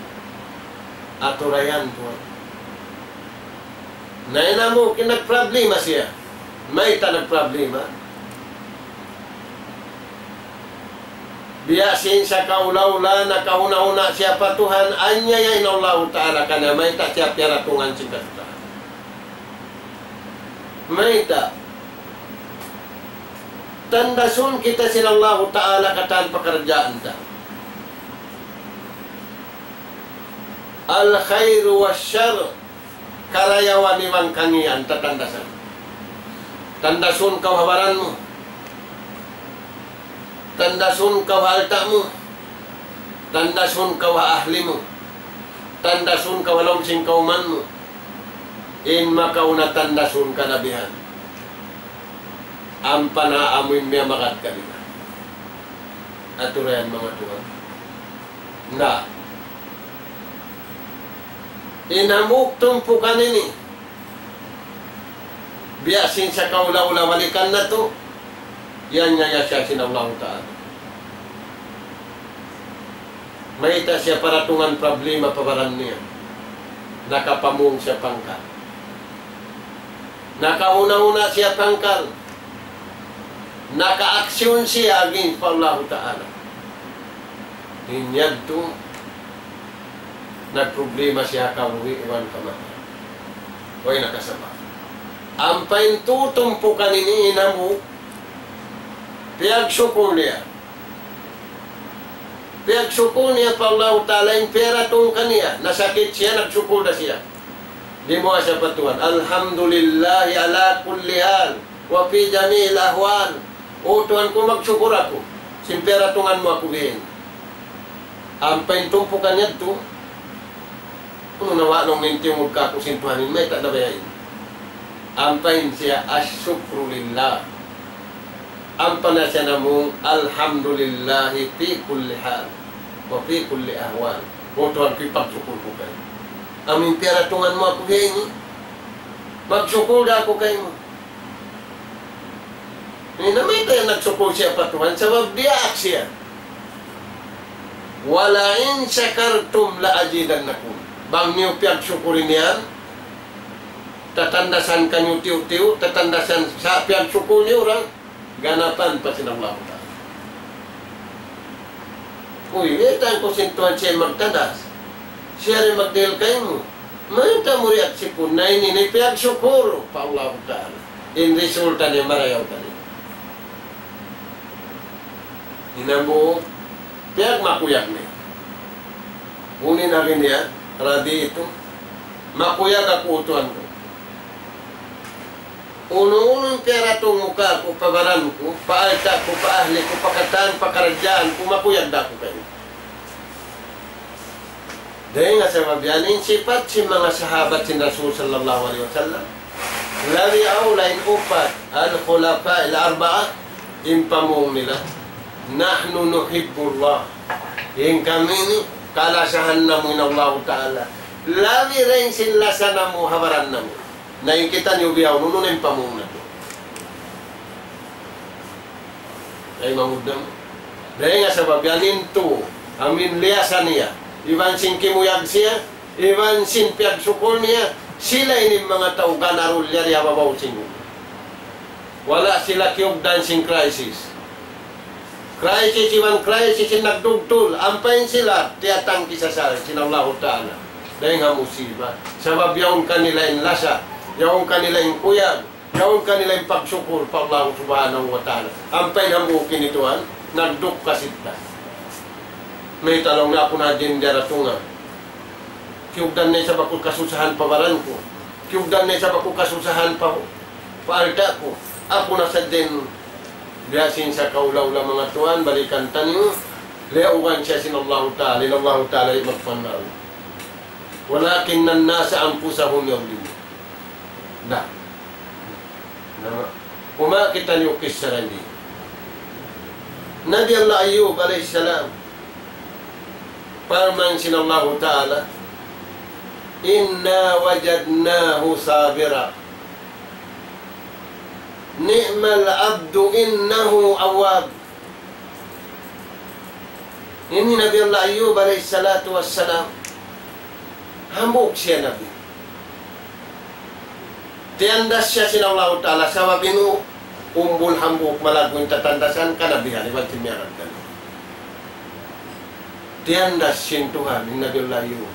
Atu ra yan tuwan. Na in hambuuk nagproblema siya. Mayta' nagproblema? Biya' sin sakaula-ula nakahuna'-huna' siya pa Tuhan, anyaya in Allahu Ta'ala kaniya, mayta' siya piyaratungan sin kasusahan. Mayta'? Tandasun kita sin Allahu Ta'ala katan pakaradjaan ta. Al-khayr wa shar, karayawan iban kangīan tatandasan. Tandasun kaw ha baran mu. Tandasun kaw ha alta' mu. Tandasun kaw ha ahli mu. Tandasun kaw ha lawm sin kawman mu. In makauna tandasun kanabihan. Ampa na amu in miyamagad kanila. Aturan manga tuwan. Na. In hambuuk tumpukan ini. Biya' sin sakaula-ula balikan natu'. Yan nga ya siya sin Allahu Ta'ala. Mayta' siya paratungan problema pa baran niya. Nakapamung siya pangkal. Nakauna-una siya pangkal. Naka-action siya against pa Allahu Ta'ala. In yadtu, nagproblema siya kabuhi' iban kamatay. Way nakasabab. Ampa in tutumpukan ini in hambuuk, piyagsukul niya. Piyagsukul niya pa Allahu Ta'ala in piyaratung kaniya. Nasakit siya, nagsukul da siya. Dimuwaa siya pa Tuhan. الحمد لله على كل حال وفي جميع الأحوال. O Tuhan ku, magsukul aku. Sin piyaratungan mu aku bihaini. Ampa in tumpukan yadtu, unu na wa' laung niya in tiyungud kāku' sin Tuhan in mayta' na biya' ini. Ampa in siya الشكر لله. Ampa na siya namung الحمد لله في كل حال وفي كل أحوال. O Tuhan ku, ipagsukul ku kaymu. Amu in piyaratungan mu aku bihaini. Magsukul da aku kaymu. Ini na mayta' yan nagsukul siya pa Tuhan, sabab diyaak siya. ولئن شكرتم لأزيدنكم. Bang niyu piyagsukul niyan, tatandasan kaniyu tiyu'-tiyu', tatandasan sa' piyagsukul niyu ra, ganapan pa sin Allahu Ta'ala. Uy, mayta' ku sin Tuhan siya magtandas. Siya rin magdihil kaymu. Mayta' mu ri aksipun na ini, ini piyagsukul pa Allahu Ta'ala. In resulta niya marayaw kaniya. Hinambuuk, piyagmakuyag niya. Unu in agi niya, رضيت. Makuyag aku, Tuhan ku. Unu-unu in piyaratung mu kāku', pa baran ku, pa alta' ku, pa ahli ku, pa katan, pa karaddaan ku, makuyag da aku kaymu. Dayn ha sabab yan in sipat sin manga sahabat sin Rasul sallallahu alayhi wasallam. Labi awla in upat, الخلفاء الأربعة, in pamung nila, نحن نحب الله. In kami ini, kalasahan namu' in Allahu Ta'ala. Labi dayn sin lasa namu' ha baran namu'. Na in kitaniyu bihaun, unu na in pamung natu'? Ay, mangudam. Dayn ha sabab yan in tu, amu in liyasa niya. Iban sin kimuyag siya, iban sin piyagsukul niya, sila ini in manga tau ganarul yari ha babaw sin gumi. Wala' sila kiyugdan sin crisis. Crisis iban crisis in nagdugtul, ampa in sila tiyatangkis asal sin Allahu Ta'ala dayn ha musiba. Sabab yaun kanila in lasa, yaun kanila in kuyag, yaun kanila in pagsukul pa Allahu Subhanahu wa Ta'ala. Ampa in hambuuk ini tuwan, nagdukka sila. Mayta' laung niya aku na hadja in diyaratungan. Kiyugdan na isab aku kasusahan pa baran ku. Kiyugdan na isab aku kasusahan pa, pa alta' ku. Aku na sadja in biya' sin sakaula-ula manga tuwan, balikan taniyu. Liyaugan siya sin Allahu Ta'ala, in Allahu Ta'ala di' magpandaw. ولكن الناس أنفسهم يظلمون. Na. Na. Kumawa' kitaniyu kissa ini. Nabi Allah Ayyub alayhi salam, parman sin Allahu Ta'ala, إنا وجدناه صابرا نعم العبد إنه أواب. Ini Nabi Allah Ayyub alayhi salatu wassalam. Hambuuk siya nabi. Tiyandas siya sin Allahu Ta'ala sabab in umbul hambuuk malaggu' in tatandasan kanabihan iban sin miyarad kaniya. Tiyandas sin Tuhan in Nabi Allah Ayyub.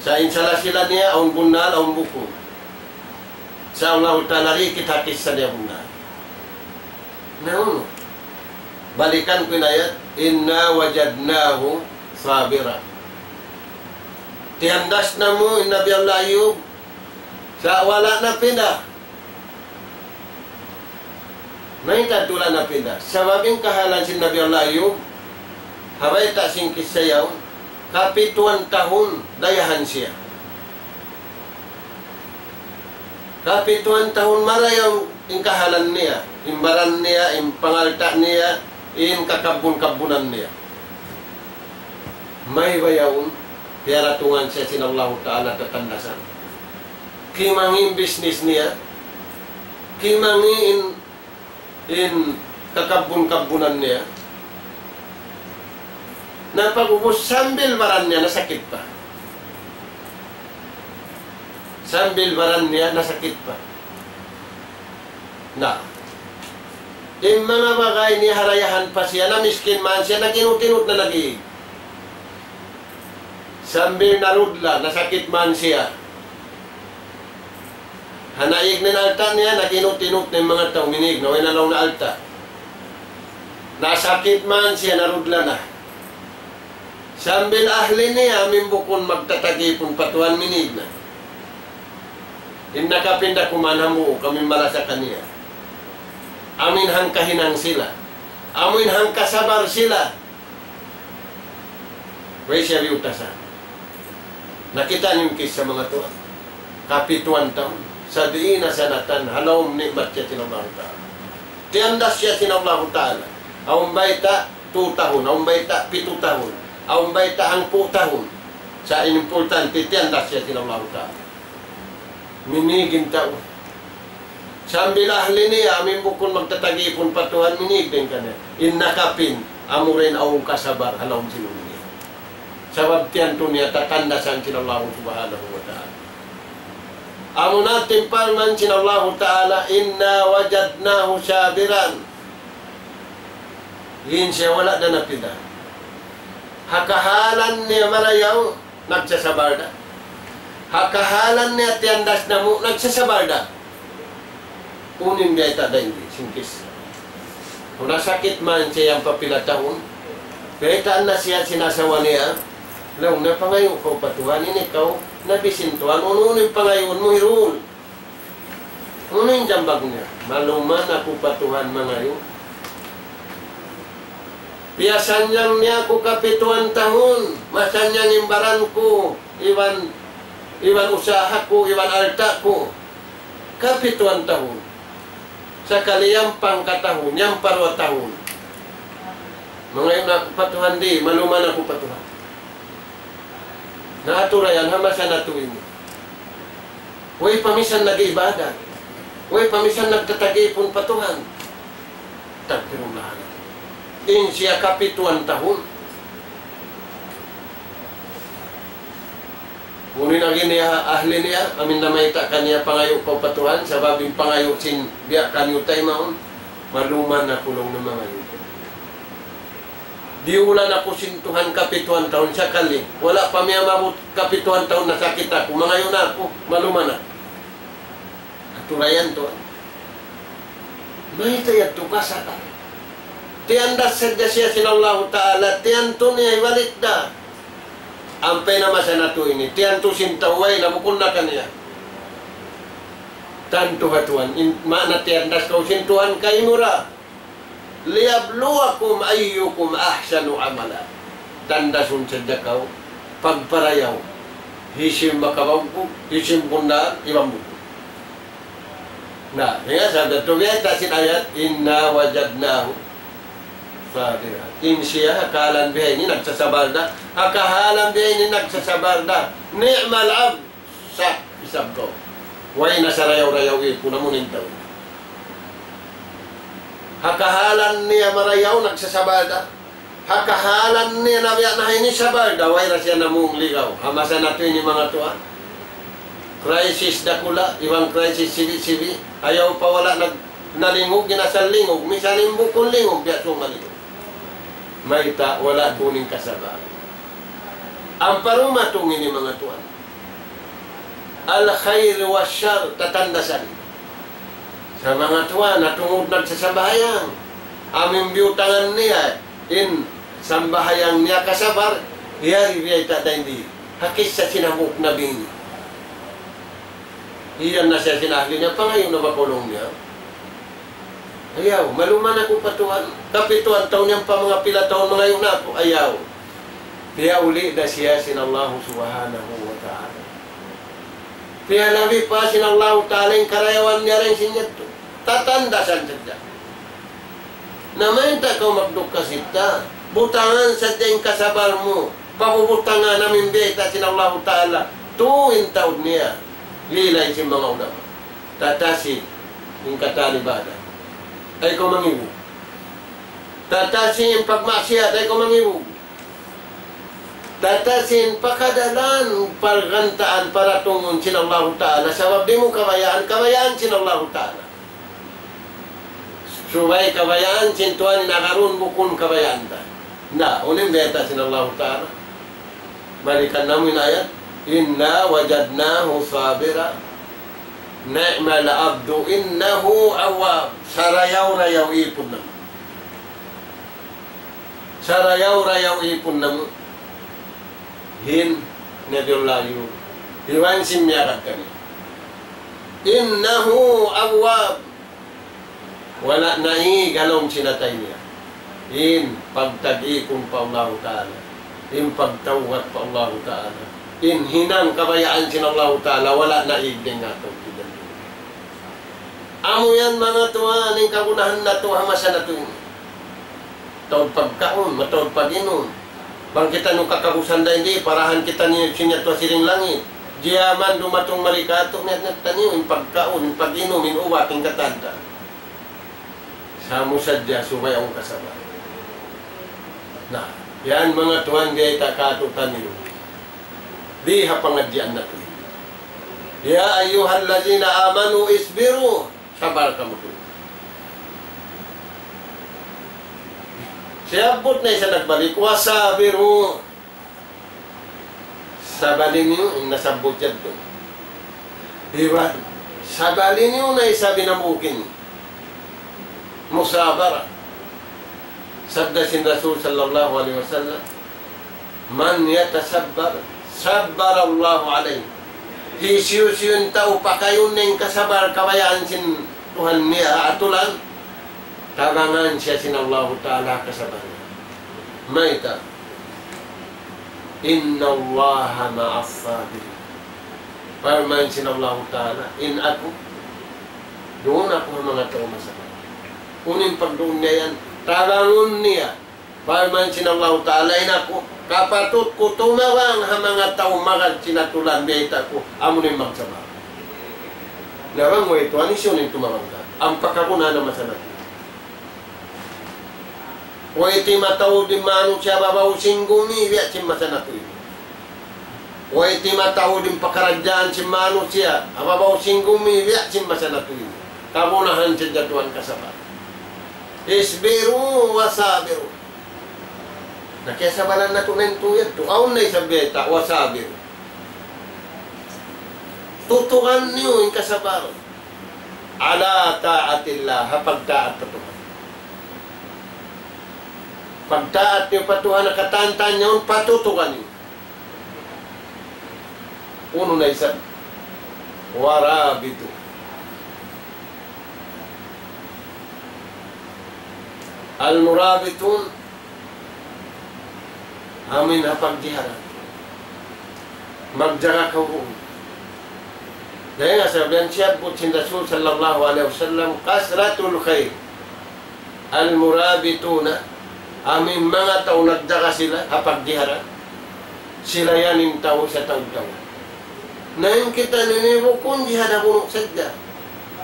Sa' in sala-sila niya, awn bunnal, awn bukun. Sa' Allahu Ta'ala di' kita kissa niya bunnal. Na unu? Balikan ku in ayat, إنا وجدناه صابرا. Tiyandas namu' in Nabi Allah Ayyub, sa' wala' na pinda. Mayta' tuud napinda? Sabab in kahalan sin Nabi Allah Ayub, ha bayta' sin kissa yaun, kapituan tahun dayahan siya. Kapituan tahun marayaw in kahalan niya, in baran niya, in pangalta' niya, in kakabbun-kabbunan niya. Mayta' yaun, piyaratungan siya sin Allahu Ta'ala tatandasan. Kimangi' in bisnis niya, kimangi' in in kakabbun-kabbunan niya. Na pag'ubus sambil baran niya nasakit pa. Sambil baran niya nasakit pa. Na. In manga bagay niya harayahan pa siya, na miskin man siya, nag-inut-inut na nag-iig. Sambil narudla, nasakit man siya. Ha naig na in alta' niya, nag-inut-inut na in manga tau, minīg na, way na laung na alta'. Nasakit man siya, narudla na. Sambil ahli niya, amu in bukun magtatagipun pa Tuhan, minīg na. In nakapinda kuman hambuuk, amu in malasa kaniya. Amu in hangkahinang sila. Amu in hangkasabar sila. Way siya biyutasan. Nakita' niyu in kissa manga tuwan. Kapituan tahun. Sab'ina sanatan, ha lawm ni'mat siya sin Allahu Ta'ala. Tiyandas siya sin Allahu Ta'ala. Awn bayta' tu tahun, awn bayta' pitu tahun, awn bayta' hangpu' tahun. Sa' in importante, tiyandas siya sin Allahu Ta'ala. Minīg in tau. Sambil ahli niya, amu in bukun magtatagipun pa Tuhan, minīg dayn kaniya. In nakapin, amura in awn kasabar, ha lawm sin dunya. Sabab tiyantu niya tatandasan sin Allahu Subhanahu wa Ta'ala. Amuna in parman sin Allahu Ta'ala, إنا وجدناه صابرا. In siya wala' da napinda. Ha kahalan niya marayaw, nagsasabar da. Ha kahalan niya tiyandas namu', nagsasabar da. Unu in biyayta' dayn di, sin kissa. Kunu' nasakit man siya yan pa pila tahun. Biyaytaan na siya sin asawa niya. Laung niya, pangayu' kaw pa Tuhan, ini kaw nabi sin Tuhan, unu-unu in pangayuun mu, hirul. Unu in jambag niya? Maluman aku pa Tuhan mangayu'. Piyasannyang niya aku kapituan tahun, masannyang in baran ku, iban, iban usaha ku, iban alta' ku. Kapituan tahun. Sakali yan pangkatahun, yan pa duwa tahun. Mangayu' na aku pa Tuhan di', maluman aku pa Tuhan. Na atura yan, ha masa natu' ini. Way pa misan nag-ibadat. Way pa misan nagtatagipun pa Tuhan. Astagfirullah. In siya kapituan tahun. Unu in agi niya, ahli niya, amu in namayta' kaniya pangayu' kaw pa Tuhan, sabab in pangayu' sin biya' kaniyu taymaun, maluman aku laung niya mangayu'. Diyulan aku sin Tuhan kapituan tahun sakali. Wala' pa miyabut kapituan tahun nasakit aku. Mangayu' na aku, maluman na. Atura yan tuwan. Mayta' yadtu kasala. Tiyandas sadja siya sin Allahu Ta'ala, tiyantu niya hibalik da. Ampa in masa natu' ini, tiyantu sin tau way na bukun na kaniya. Tantu ha Tuhan, in, maana tiyandas kaw sin Tuhan kaymu ra. ليبلوكم أيكم أحسن عملا. Tandasun sadja kaw, pagparayaw. Hisiyu in makabawgu, hisiyu in bundal, iban bukun. Na, hangkan sabda tu biya' ta sin ayat, إنا وجدناه صابرا. In siya, ha kahalan bihaini nagsasabar da. Ha kahalan bihaini nagsasabar da. نعم العبد. Sa', isab kaw. Way na sarayaw-rayaw ipun amu in tau. Ha kahalan niya marayaw, nagsasabar da. Ha kahalan niya nabiya' na ini sabar da, way da siya namung ligaw. Ha masa natu' ini manga tuwan. Crisis dakula', iban crisis sibi'-sibi'. Ayaw pa wala' nag-, nalingug, in asal lingug. Misan in bukun lingug, biya' su malingug. Mayta', wala' duun in kasabar. Ampa dumatung ini manga tuwan. الخير والشر, tatandasan. Sa' manga tuwan, na tungud nagsasambahayang. Amu in biyutangan niya, in sambahayang niya kasabar, yari biyayta' dayn di. Ha kissa sin hambuuk nabi ini. Iyan na siya sin ahli niya, pangayu' na ba kaw laung niya. Ayaw, maluman aku pa Tuhan. Kapituan tahun yan pa manga pila tahun mangayu' na aku. Ayaw. Piyauli' da siya sin Allahu Subhanahu wa Ta'ala. Piyalabi pa sin Allahu Ta'ala in karayawan niya dayn sin yadtu. Tatandasan sadja. Na mayta' kaw magdukka sita. Butangan sadja in kasabal mu. Pabubutangan amu in biyayta' sin Allahu Ta'ala. Tuud in taud niya. Lilay sin manga ulama. Tatasi in katan ibadat. Ayaw kaw mangibug. Tatasi in pagmaksiyat, ayaw kaw mangibug. Tatasi in pakadalan, pargantaan, paratungun sin Allahu Ta'ala. Sabab di' mu kabayaan, kabayaan sin Allahu Ta'ala. Subay kabayaan sin Tuhan in agarun bukun kabayaan ta. Na, unu in biyayta' sin Allahu Ta'ala. Balikan namu' in ayat. إنا وجدناه صابرا نعم العبد إنه أواب. Sarayaw-rayaw ipun namu'. Sarayaw-rayaw ipun namu'. Hi Nabiullah Ayub. Iban sin miyagad kaniya. إنه أواب. Wala' naig ha lawm sin atay niya in pagtag-ikun pa Allahu Ta'ala, in pagtawbat pa Allahu Ta'ala, in hinang kabayaan sin Allahu Ta'ala, wala' naig dayn ha tau kidan. Amu yan manga tuwan, in kagunahan natu' ha masa natu' ini. Mataud pagkaun, mataud pag-inum. Bang kitaniyu kakabusan dayn di, parahan kitaniyu sin yadtu ha siring langit. Jiyaman dumatung mari katu', niyat-niyat taniyu, in pagkaun, in pag-inum, in ubat, in katan ta. Sa' amu sadja subay awn kasabal. Na, yan manga tuwan biyayta' katu'taniyu. Di ha pangadjian natu'. يا أيها الذين آمنوا اصبروا. Sabar kamu tuud. Siyabbut na isab nagbalik, وصابروا. Sabali niyu in nasabbut yadtu. Iban, sabali niyu na isab in hambuuk ini. Musabara. Sabda sin Rasul sallallahu alayhi wasallam, من يتصبر صبر الله عليه. Hisiyu-siyu in tau pakayun niya in kasabar kabayaan sin Tuhan niya ha atulan, tabangan siya sin Allahu Ta'ala ha kasabar. Mayta'? إن الله مع الصابرين. Parman sin Allahu Ta'ala, in aku, duun aku ha manga tau masabar. Unu in pagduun niya yan, tabangun niya. Parman sin Allahu Ta'ala, in aku, kapatut ku tumabang ha manga tau magad sin atulan, biyayta' ku, amu in magsabar. Na bang way tuwan, hisiyu in tumabang katu'? Ampa kaku na na masa natu'. Way timataud in manusiya' ha babaw sin gumi, biya' sin masa natu' ini. Way timataud in pakaradjaan sin manusiya' ha babaw sin gumi, biya' sin masa natu' ini. Kagunahan sin jatuhan kasabar. اصبروا وصابروا. Na kiyasabaran natu' na in tuyad tu. Awn na isab biyayta', وصابروا. Tutukan niyu in kasabar. على طاعة الله, ha pagtaat pa Tuhan. Pagtaat niyu pa Tuhan, katantan niyu, patutukan niyu. Unu na isab? ورابطوا. المرابطون, amu in ha pagjiharan. Magjaga kaw duun. Dayn ha sabab yan siyabbut sin Rasul sallallahu alayhi wasallam, كثرة الخير. المرابطون, amu in manga tau nagjaga sila ha pagjiharan. Sila yan in tau sa tau-tau. Na in kitaniyu ini bukun jihad ha bunu' sadja.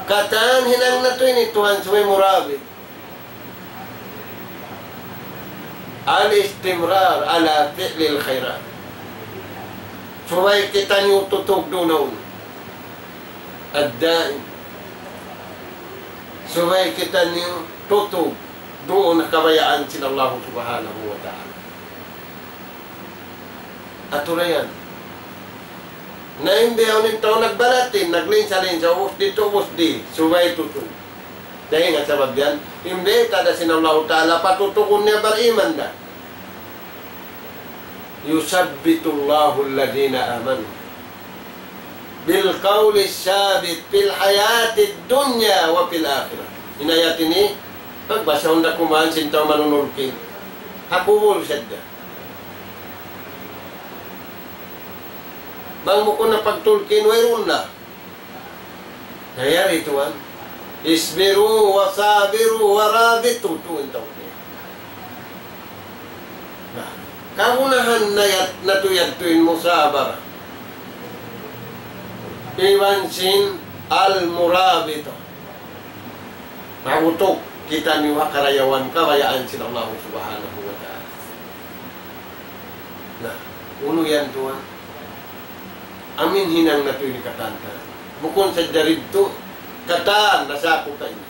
Katan hinang natu' ini tuwan subay murabit. الاستمرار على فعل الخيرات. Subay kitaniyu tutug duun. الدائم. Subay kitaniyu tutug duun ha kabayaan sin Allah subhanahu wa ta'ala. Aturan yan. Na in bihaun in tau nagbalatin, naglinsa-linsa, ubus di, ubus di, subay tutug. Dayn ha sabab yan, in biyayta' da sin Allahu Ta'ala, patutugun niya bariman da. يثبت الله الذين آمنوا بالقول الثابت في الحياة الدنيا وفي الآخرة. In ayat ini, pagbasahun da kuman sin tau manunulkin. Ha kubul sadja. Bang bukun na pagtulkin, wayruun na. Na yari tuwan. اصبروا وصابروا ورابطوا, tuwan tau niya. Na, kagunahan na yat-, natu' yadtu in musabara. Iban sin al-murabita. Mabutuk kitaniyu ha karayawan kabayaan sin Allah Subhanahu wa Ta'ala. Na, unu yan tuwan? Amu in hinang natu' ini katan. Bukun sadja didtu, katan nasakup ini.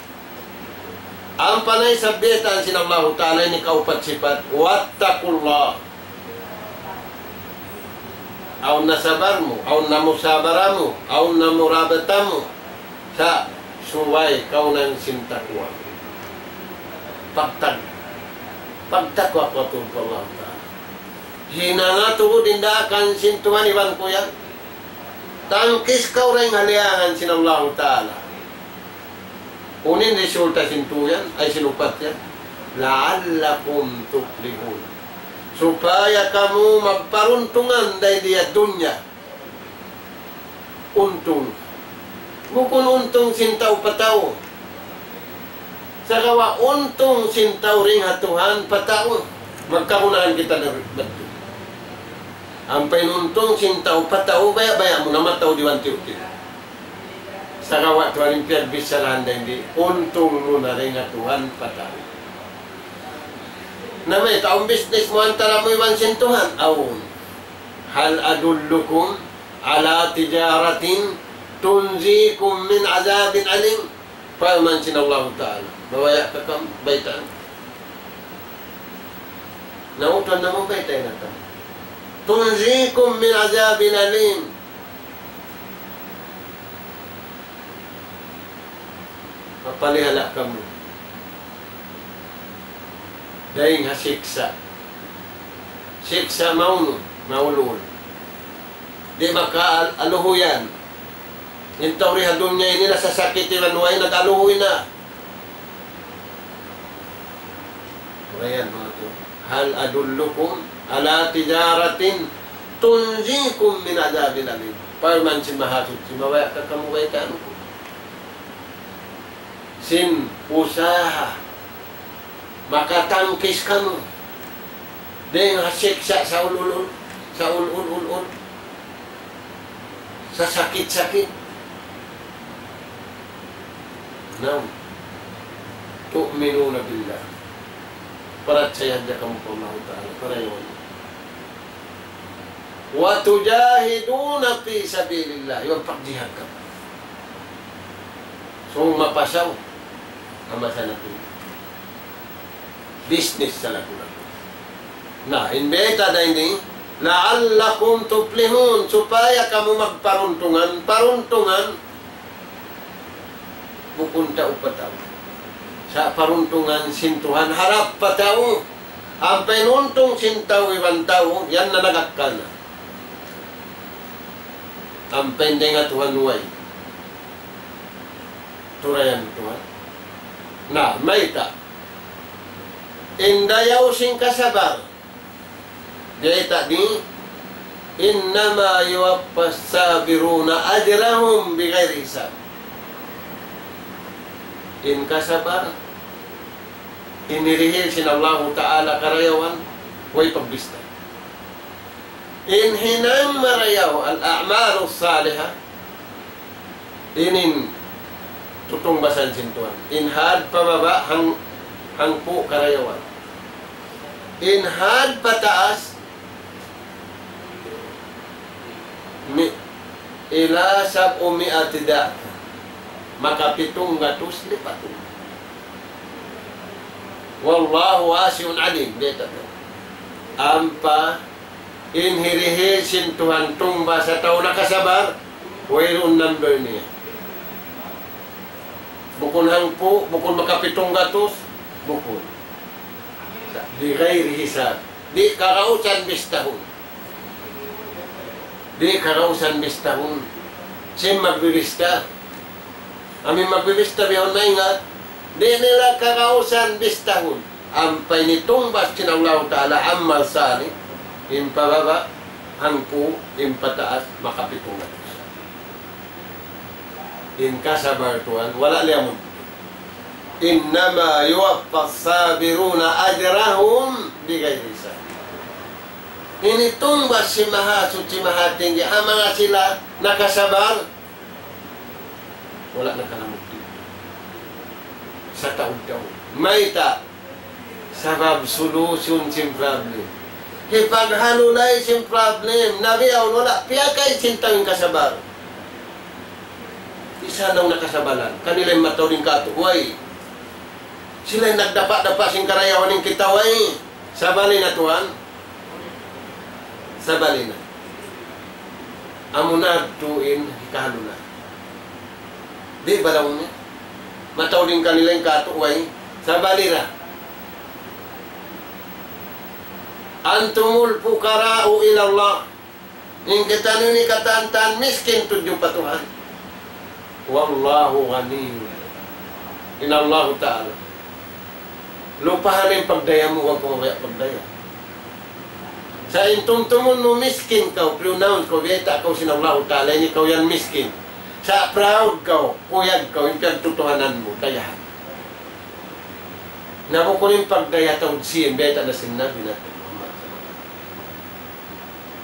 Ampa na isab baytaan sin Allahu Ta'ala ini kaupat sipat, واتقوا الله. Awn na sabar mu, awn na musabara mu, awn na murabata mu. Sa' subay kaw nang sin takwa. Pagtag-, pagtakwa kaw tuud pa Allah Ta'ala. Hinanga tuud in daakan sin Tuhan iban ku yan. Tangkis kaw dayn ha liyangan sin Allahu Ta'ala. Unu in resulta sin tū yan, ay sin upat yan. لعلكم تفلحون. Supaya kamu magparuntungan dayn di ha dunya. Untung. Bukun untung sin tau pa tau. Sagawa' untung sin tau dayn ha Tuhan pa tau. Magkagunahan kita na batu. Ampa in untung sin tau pa tau, baya'-baya' mu na mataud iban tiyu'-tiyu'. Sagawa' tuwan in piyagbicharahan dayn di, untung mu na dayn ha Tuhan pa tau. Na mayta', awn business mu antara mu iban sin Tuhan? Awn. هل أدلكم على تجارة تنجيكم من عذاب أليم؟ Parman sin Allahu Ta'ala. Mabaya' ka kamu baytaan? Nautan na mu baytaan na kamu. تنجيكم من عذاب أليم. Mapalihala' kamu dayn ha siksa'. Siksa' maunu, maulul. Di' maka al-, aluhuyan. In tau di ha dunya ini nasasakit iban way nag-aluhuy na. Ayan, manga tu. هل أدلكم على تجارة تنجيكم من عذاب أليم؟ Parman sin Mahasuchi, mabaya' ka kamu baytaan ku sin usaha makatangkis kamu dayn ha siksa' sa ul-ul-ul, sa ul-ul-ul-ul, sa sakit-sakit. Naam. تؤمنون بالله. Parachaya hadja kamu pa Allahu Ta'ala, parayawan. وتجاهدون في سبيل الله. Iban pagjihad kamu. So, mapasaw. Ama sa natu'. Business sa laku-laku. Na, in bayta' da ini, لعلكم تفلحون, supaya kamu magparuntungan, paruntungan, bukun tau pa tau. Sa' paruntungan sin Tuhan harap pa tau. Ampa in untung sin tau iban tau, yan na nag-akkal na. Ampa in dayn ha Tuhan way. Turayan Tuhan. Na, mayta'. In dayaw sin kasabar. Bayta' di, إنما يوفى الصابرون أجرهم بغير حساب. In kasabar, in hirihil sin Allahu Ta'ala karayawan, way pagbista. In hinang marayaw, الأعمال الصالحة, ini in tutungbasan sin Tuhan. In had pa baba' hang-, hangpu' karayawan. In had pa taas, mi-, إلى سبعمائة ضعف. Makapitung gatus lipatun. والله واسع عليم. Bayta' tu. Ampa in hirihil sin Tuhan tungbas ha tau nakasabar, wayruun number niya. Bukun hangpu', bukun makapitung gatus, bukun. بغير حساب. Di' kagausan bistahun. Di' kagausan bistahun. Sin magbibista. Amu in magbibista bihaun maingat. Di' nila kagausan bistahun. Ampa ini tungbas sin Allahu Ta'ala amal salih, in pababa', hangpu', in pataas, makapitung ratus. In kasabar tuwan, wala' liyamun. إنما يوفى الصابرون أجرهم بغير حساب. Ini tungbas sin Mahasuchi Mahatinggi, ha manga sila nakasabar, wala' nakalamud. Sataud-taud. Mayta'? Sabab solution sin problem. Hipaghalulay sin problem. Na bihaun wala' piyakay sin tau in kasabar. Isa na nakasabalan. Kanila in mataud in katu', way. Sila in nagdapa'-dapa' sin karayawan in kita, way. Sabali na tuwan. Sabali na. Amuna tuud in hikalu na. Di' ba laung niya? Mataud in kanila in katu', way. Sabali na. أنتم الفقراء إلى الله. In kitaniyu ini katan-katan miskin tudju pa Tuhan. والله غني. In Allahu Ta'ala. Lupahan in pagdaya mu, wag kaw mabaya' pagdaya. Sa' in tumtumun mu miskin kaw, proud kaw, biyayta' kaw sin Allahu Ta'ala, ini kaw yan miskin. Sa' proud kaw, kuyag kaw, in piyagtutuhanan mu, dayahan. Na bukun in pagdaya taud sin, biyayta' na sin Nabi natu' Muhammad.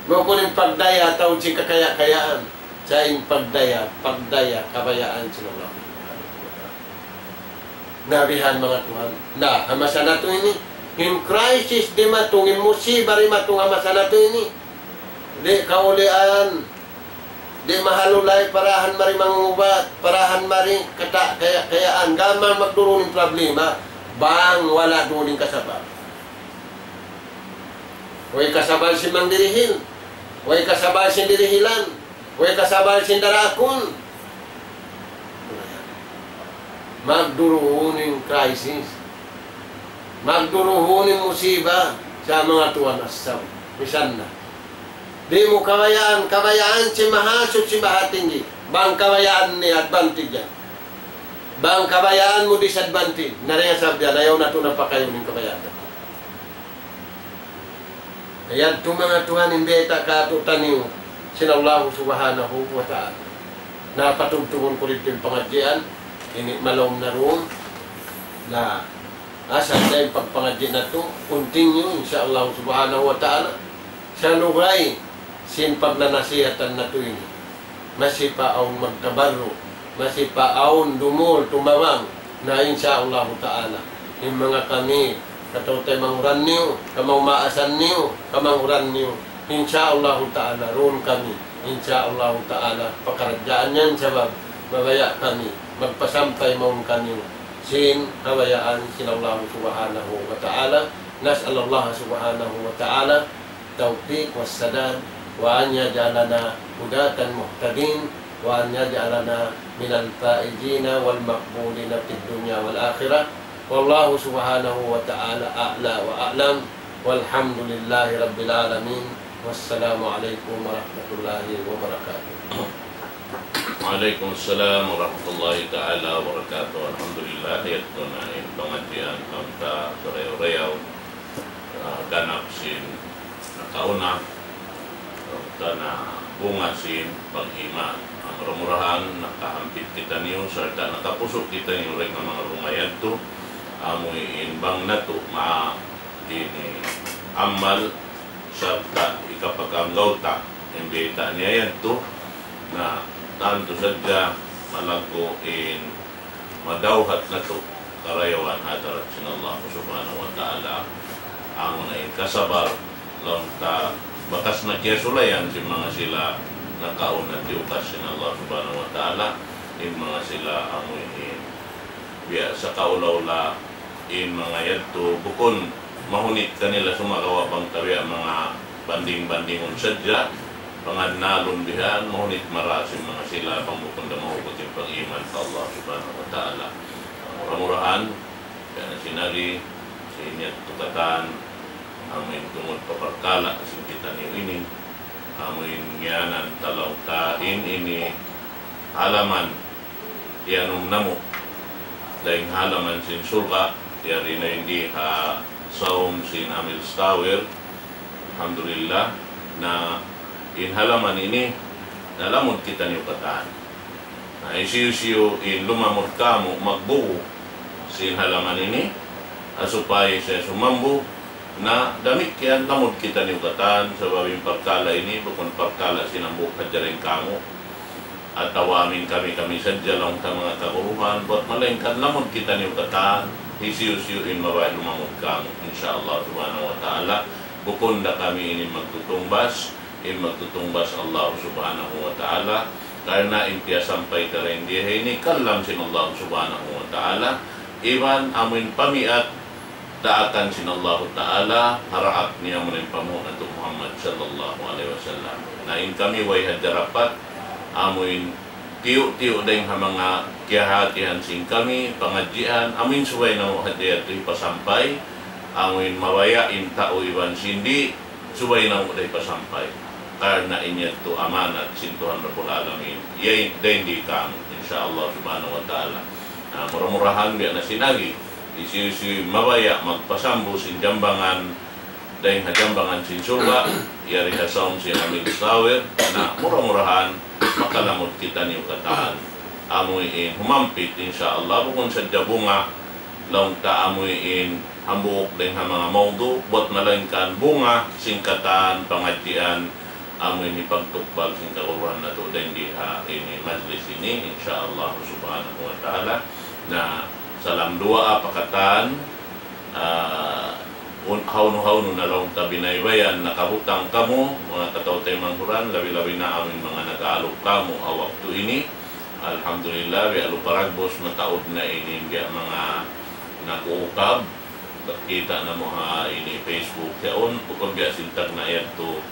Bukun in pagdaya taud sin kakaya-kayaan. Sa' in pagdaya, pagdaya, kabayaan sin Allah Subhanahu wa Ta'ala. Na bihan manga tuwan. Na, ha masa natu' ini, in crisis dimatung, in musiba dimatung ha masa natu' ini. Di' kaulian, di' mahalulay parahan mari mangubat, parahan mari kata kaya-kayaan, gam magdurun in problema, bang wala' duun in kasabar. Way kasabar sin mangdirihil, way kasabar sin dirihilan, way kasabar sin daraakun. Magduruhun in crisis. Magduruhun in musiba sa' manga tuwan asal. Misan na. Di' mu kabayaan, kabayaan sin Mahasuchi Mahatinggi. Bang kabayaan niya advantage yan. Bang kabayaan mu disadvantage. Na dayn ha sabab yan, ayaw natu' na pakayun in kabayaan natu'. Yadtu manga tuwan in biyayta' kātu'niyu sin Allahu Subhanahu wa Ta'ala. Na patubtubun ku didtu in pangadjian, ini malaum na duun. Na asal da in pagpangadji' natu', continue, insya Allah Subhanahu wa Ta'ala. Sa' lugay sin pagnanasihatan natu' ini. Masi pa awn magtabarru', masi pa awn dumul tumabang, na insya Allahu Ta'ala, in manga kami, kataw-taymanghuran niyu, kamaumaasan niyu, kamanghuran niyu, insya Allahu Ta'ala, duun kami, insya Allahu Ta'ala, pakaradjaan yan sabab, mabaya' kami, magpasampay mawn kaniyu, sin kabayaan sin Allahu Subhanahu wa Ta'ala, نسأل الله سبحانه وتعالى التوفيق والسداد، وأن يجعلنا هداة مهتدين، وأن يجعلنا من الفائزين والمقبولين في الدنيا والآخرة. والله سبحانه وتعالى أعلى وأعلم، والحمد لله رب العالمين، والسلام عليكم ورحمة الله وبركاته. Wa alaykum salam warahmatullahi ta'ala wabarakatuh. Alhamdulillah, yadtu na in pangadjian ta sarayaw-rayaw, ah, ganap sin nakauna, ta na bunga sin pag-iman. Mura-murahan nakahampit kitaniyu, sarta' nakapusu' kitaniyu dayn ha manga bunga yadtu, amu in bang natu' ma ini amal sarta' hikapag-anggawta', in biyayta' niya yadtu, na tantu sadja malaggu' in madawhat natu' karayawan ha hadarat sin Allah Subhanahu wa Ta'ala. Amuna in kasabar, laung ta bakas na kiyasulayan sin manga sila nakauna tiyukas sin Allah Subhanahu wa Ta'ala, in manga sila amu in biya' sa kaula-ula in manga yadtu bukun mahunit kanila sumagawa' bang tabiya' manga banding-bandingun sadja, pangannalun bihan, mahunit marayaw sin manga sila bang bukun da mahugut in pag-iman pa Allah Subhanahu wa Ta'ala. Mura-murahan, biya' na sin ari, sin yadtu katan, amu in tungud pa parkala' sin kitaniyu ini, amu in ngiyanan ta laung ta in ini halaman, iyanum namu'. dayn ha halaman sin surga', yari na in di ha sawm sin Amil Tower. Alhamdulillah, na in halaman ini, nalamud kitaniyu katan. Na hisiyu-siyu in lumamud kamu' magbugu sin halaman ini, ha supaya siya sumambung, na damikkiyan lamud kitaniyu katan, sabab in parkala' ini, bukun parkala' sin hambuuk hadja dayn kamu'. Atawa amuin kami-kami sadja laung ta manga kaguruhan, buat malaingkan lamud kitaniyu katan, hisiyu-siyu in mabaya' lumamud kamu', insya Allah subhanahu wa ta'ala, bukun da kami ini magtutungbas, in magtutungbas Allah subhanahu wa ta'ala, karna' in piyasampay ta dayn di ha ini kalam sin Allah subhanahu wa ta'ala, iban amuin pamiat daakan sin Allahu Ta'ala, ha daak niya amuin panghu' natu' Muhammad sallallahu alayhi wasallam. Na in kami way hadja dapat, amuin tiyu'-tiyu' dayn ha manga kiyahatihan sin kami, pangadjian, amuin subay namu' hadja yadtu hipasampay, amuin mabaya' in tau iban sin di', subay namu' da hipasampay. Karna' in yadtu amanat sin Tuhan Rabbul Alamin. Yay, dayn di kamu, insya Allah subhanahu wa ta'ala. Na, mura-murahan biya' na sin agi. Hisiyu-siyu mabaya' magpasambu sin jambangan, dayn ha jambangan sin surga', yari ha sawm sin Amil Tower, na mura-murahan, makalamud kitaniyu katan. Amuin humampit, insya Allah, bukun sadja bunga, laung ta amuin hambuuk dayn ha manga mawdu', buat malaingkan bunga, sin katan, pangadjian, amuin hipagtukbal sin kaguruhan natu' dayn di ha ini majlis ini, insya Allah subhanahu wa ta'ala. Na, salam duwaa pa katan, ah, un-, hawnu-hawnu na laung ta binaybayan, nakabutang kamu, manga kataw-taymanghuran, labi-labi na amuin manga nag-aalup kamu, ha waktu ini. Alhamdulillah, biya' lupa ragbus, mataud na ini, biya' manga nag-uukab, kita' namu' ha ini Facebook yaun, bukun biya' sin tagna' yadtu,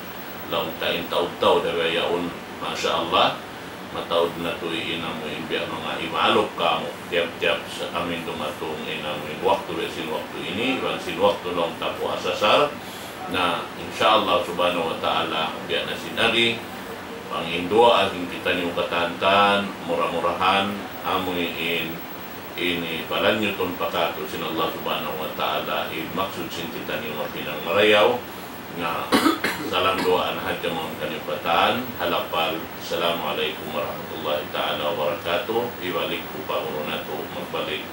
laung ta in taud-taud da biya' yaun, masha Allah. Mataud na tuud in amuin biya' manga imaalup kamu, tiyap-tiyap sa amuin dumatung in amuin waktu biya' sin waktu ini, iban sin waktu laung ta puasa sahur. Na, insya Allah subhanahu wa ta'ala, biya' na sin agi, panginduwaa sin kitaniyu katan, mura-murahan, amuin ini palanyutun pa katu' sin Allah subhanahu wa ta'ala, in maksud sin kitaniyu maghinang marayaw, na salam duwaa na hadja mawn kaniyu katan, ha lapal, Assalamu alaykum warahmatullahi ta'ala wabarakatuh, hibalik ku pa guru natu', magbalik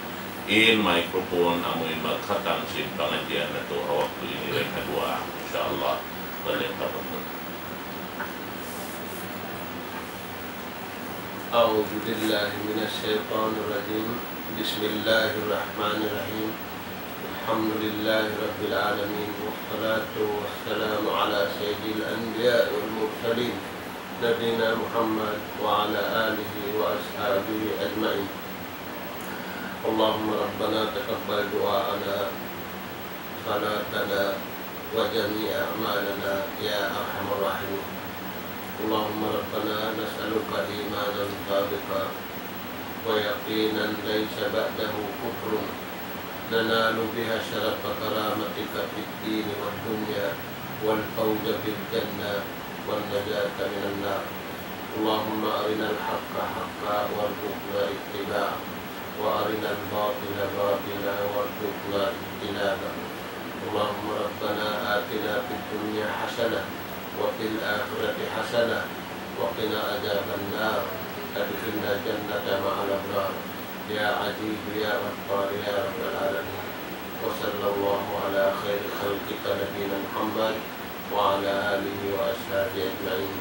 in microphone, amuin magkhatam sin pangadjian natu', ha waktu ini dayn ha duwaa, insya Allah, balik pa guru. أعوذ بالله من الشيطان الرجيم. بسم الله الرحمن الرحيم. الحمد لله رب العالمين، والصلاة والسلام على سيد الأنبياء والمرسلين، نبينا محمد وعلى آله وأصحابه أجمعين. اللهم ربنا تقبل دعاءنا، صلاتنا، وجميع أعمالنا يا أرحم الراحمين. اللهم ربنا نسألك إيمانا صادقا ويقينا ليس بعده كفر، ننال بها شرف كرامتك في الدين والدنيا، والفوز بالجنة، والنجاة من النار. اللهم أرنا الحق حقا وارزقنا اتباعه، وأرنا الباطل باطلا وارزقنا اجتنابه. اللهم ربنا آتنا في الدنيا حسنة وفي الآخرة حسنة وقنا عذاب النار. أدخلنا الجنة مع الأبرار. يا عزيز يا غفار يا رب العالمين. وصلى الله على خير خلقك نبينا محمد وعلى آله وأصحابه أجمعين.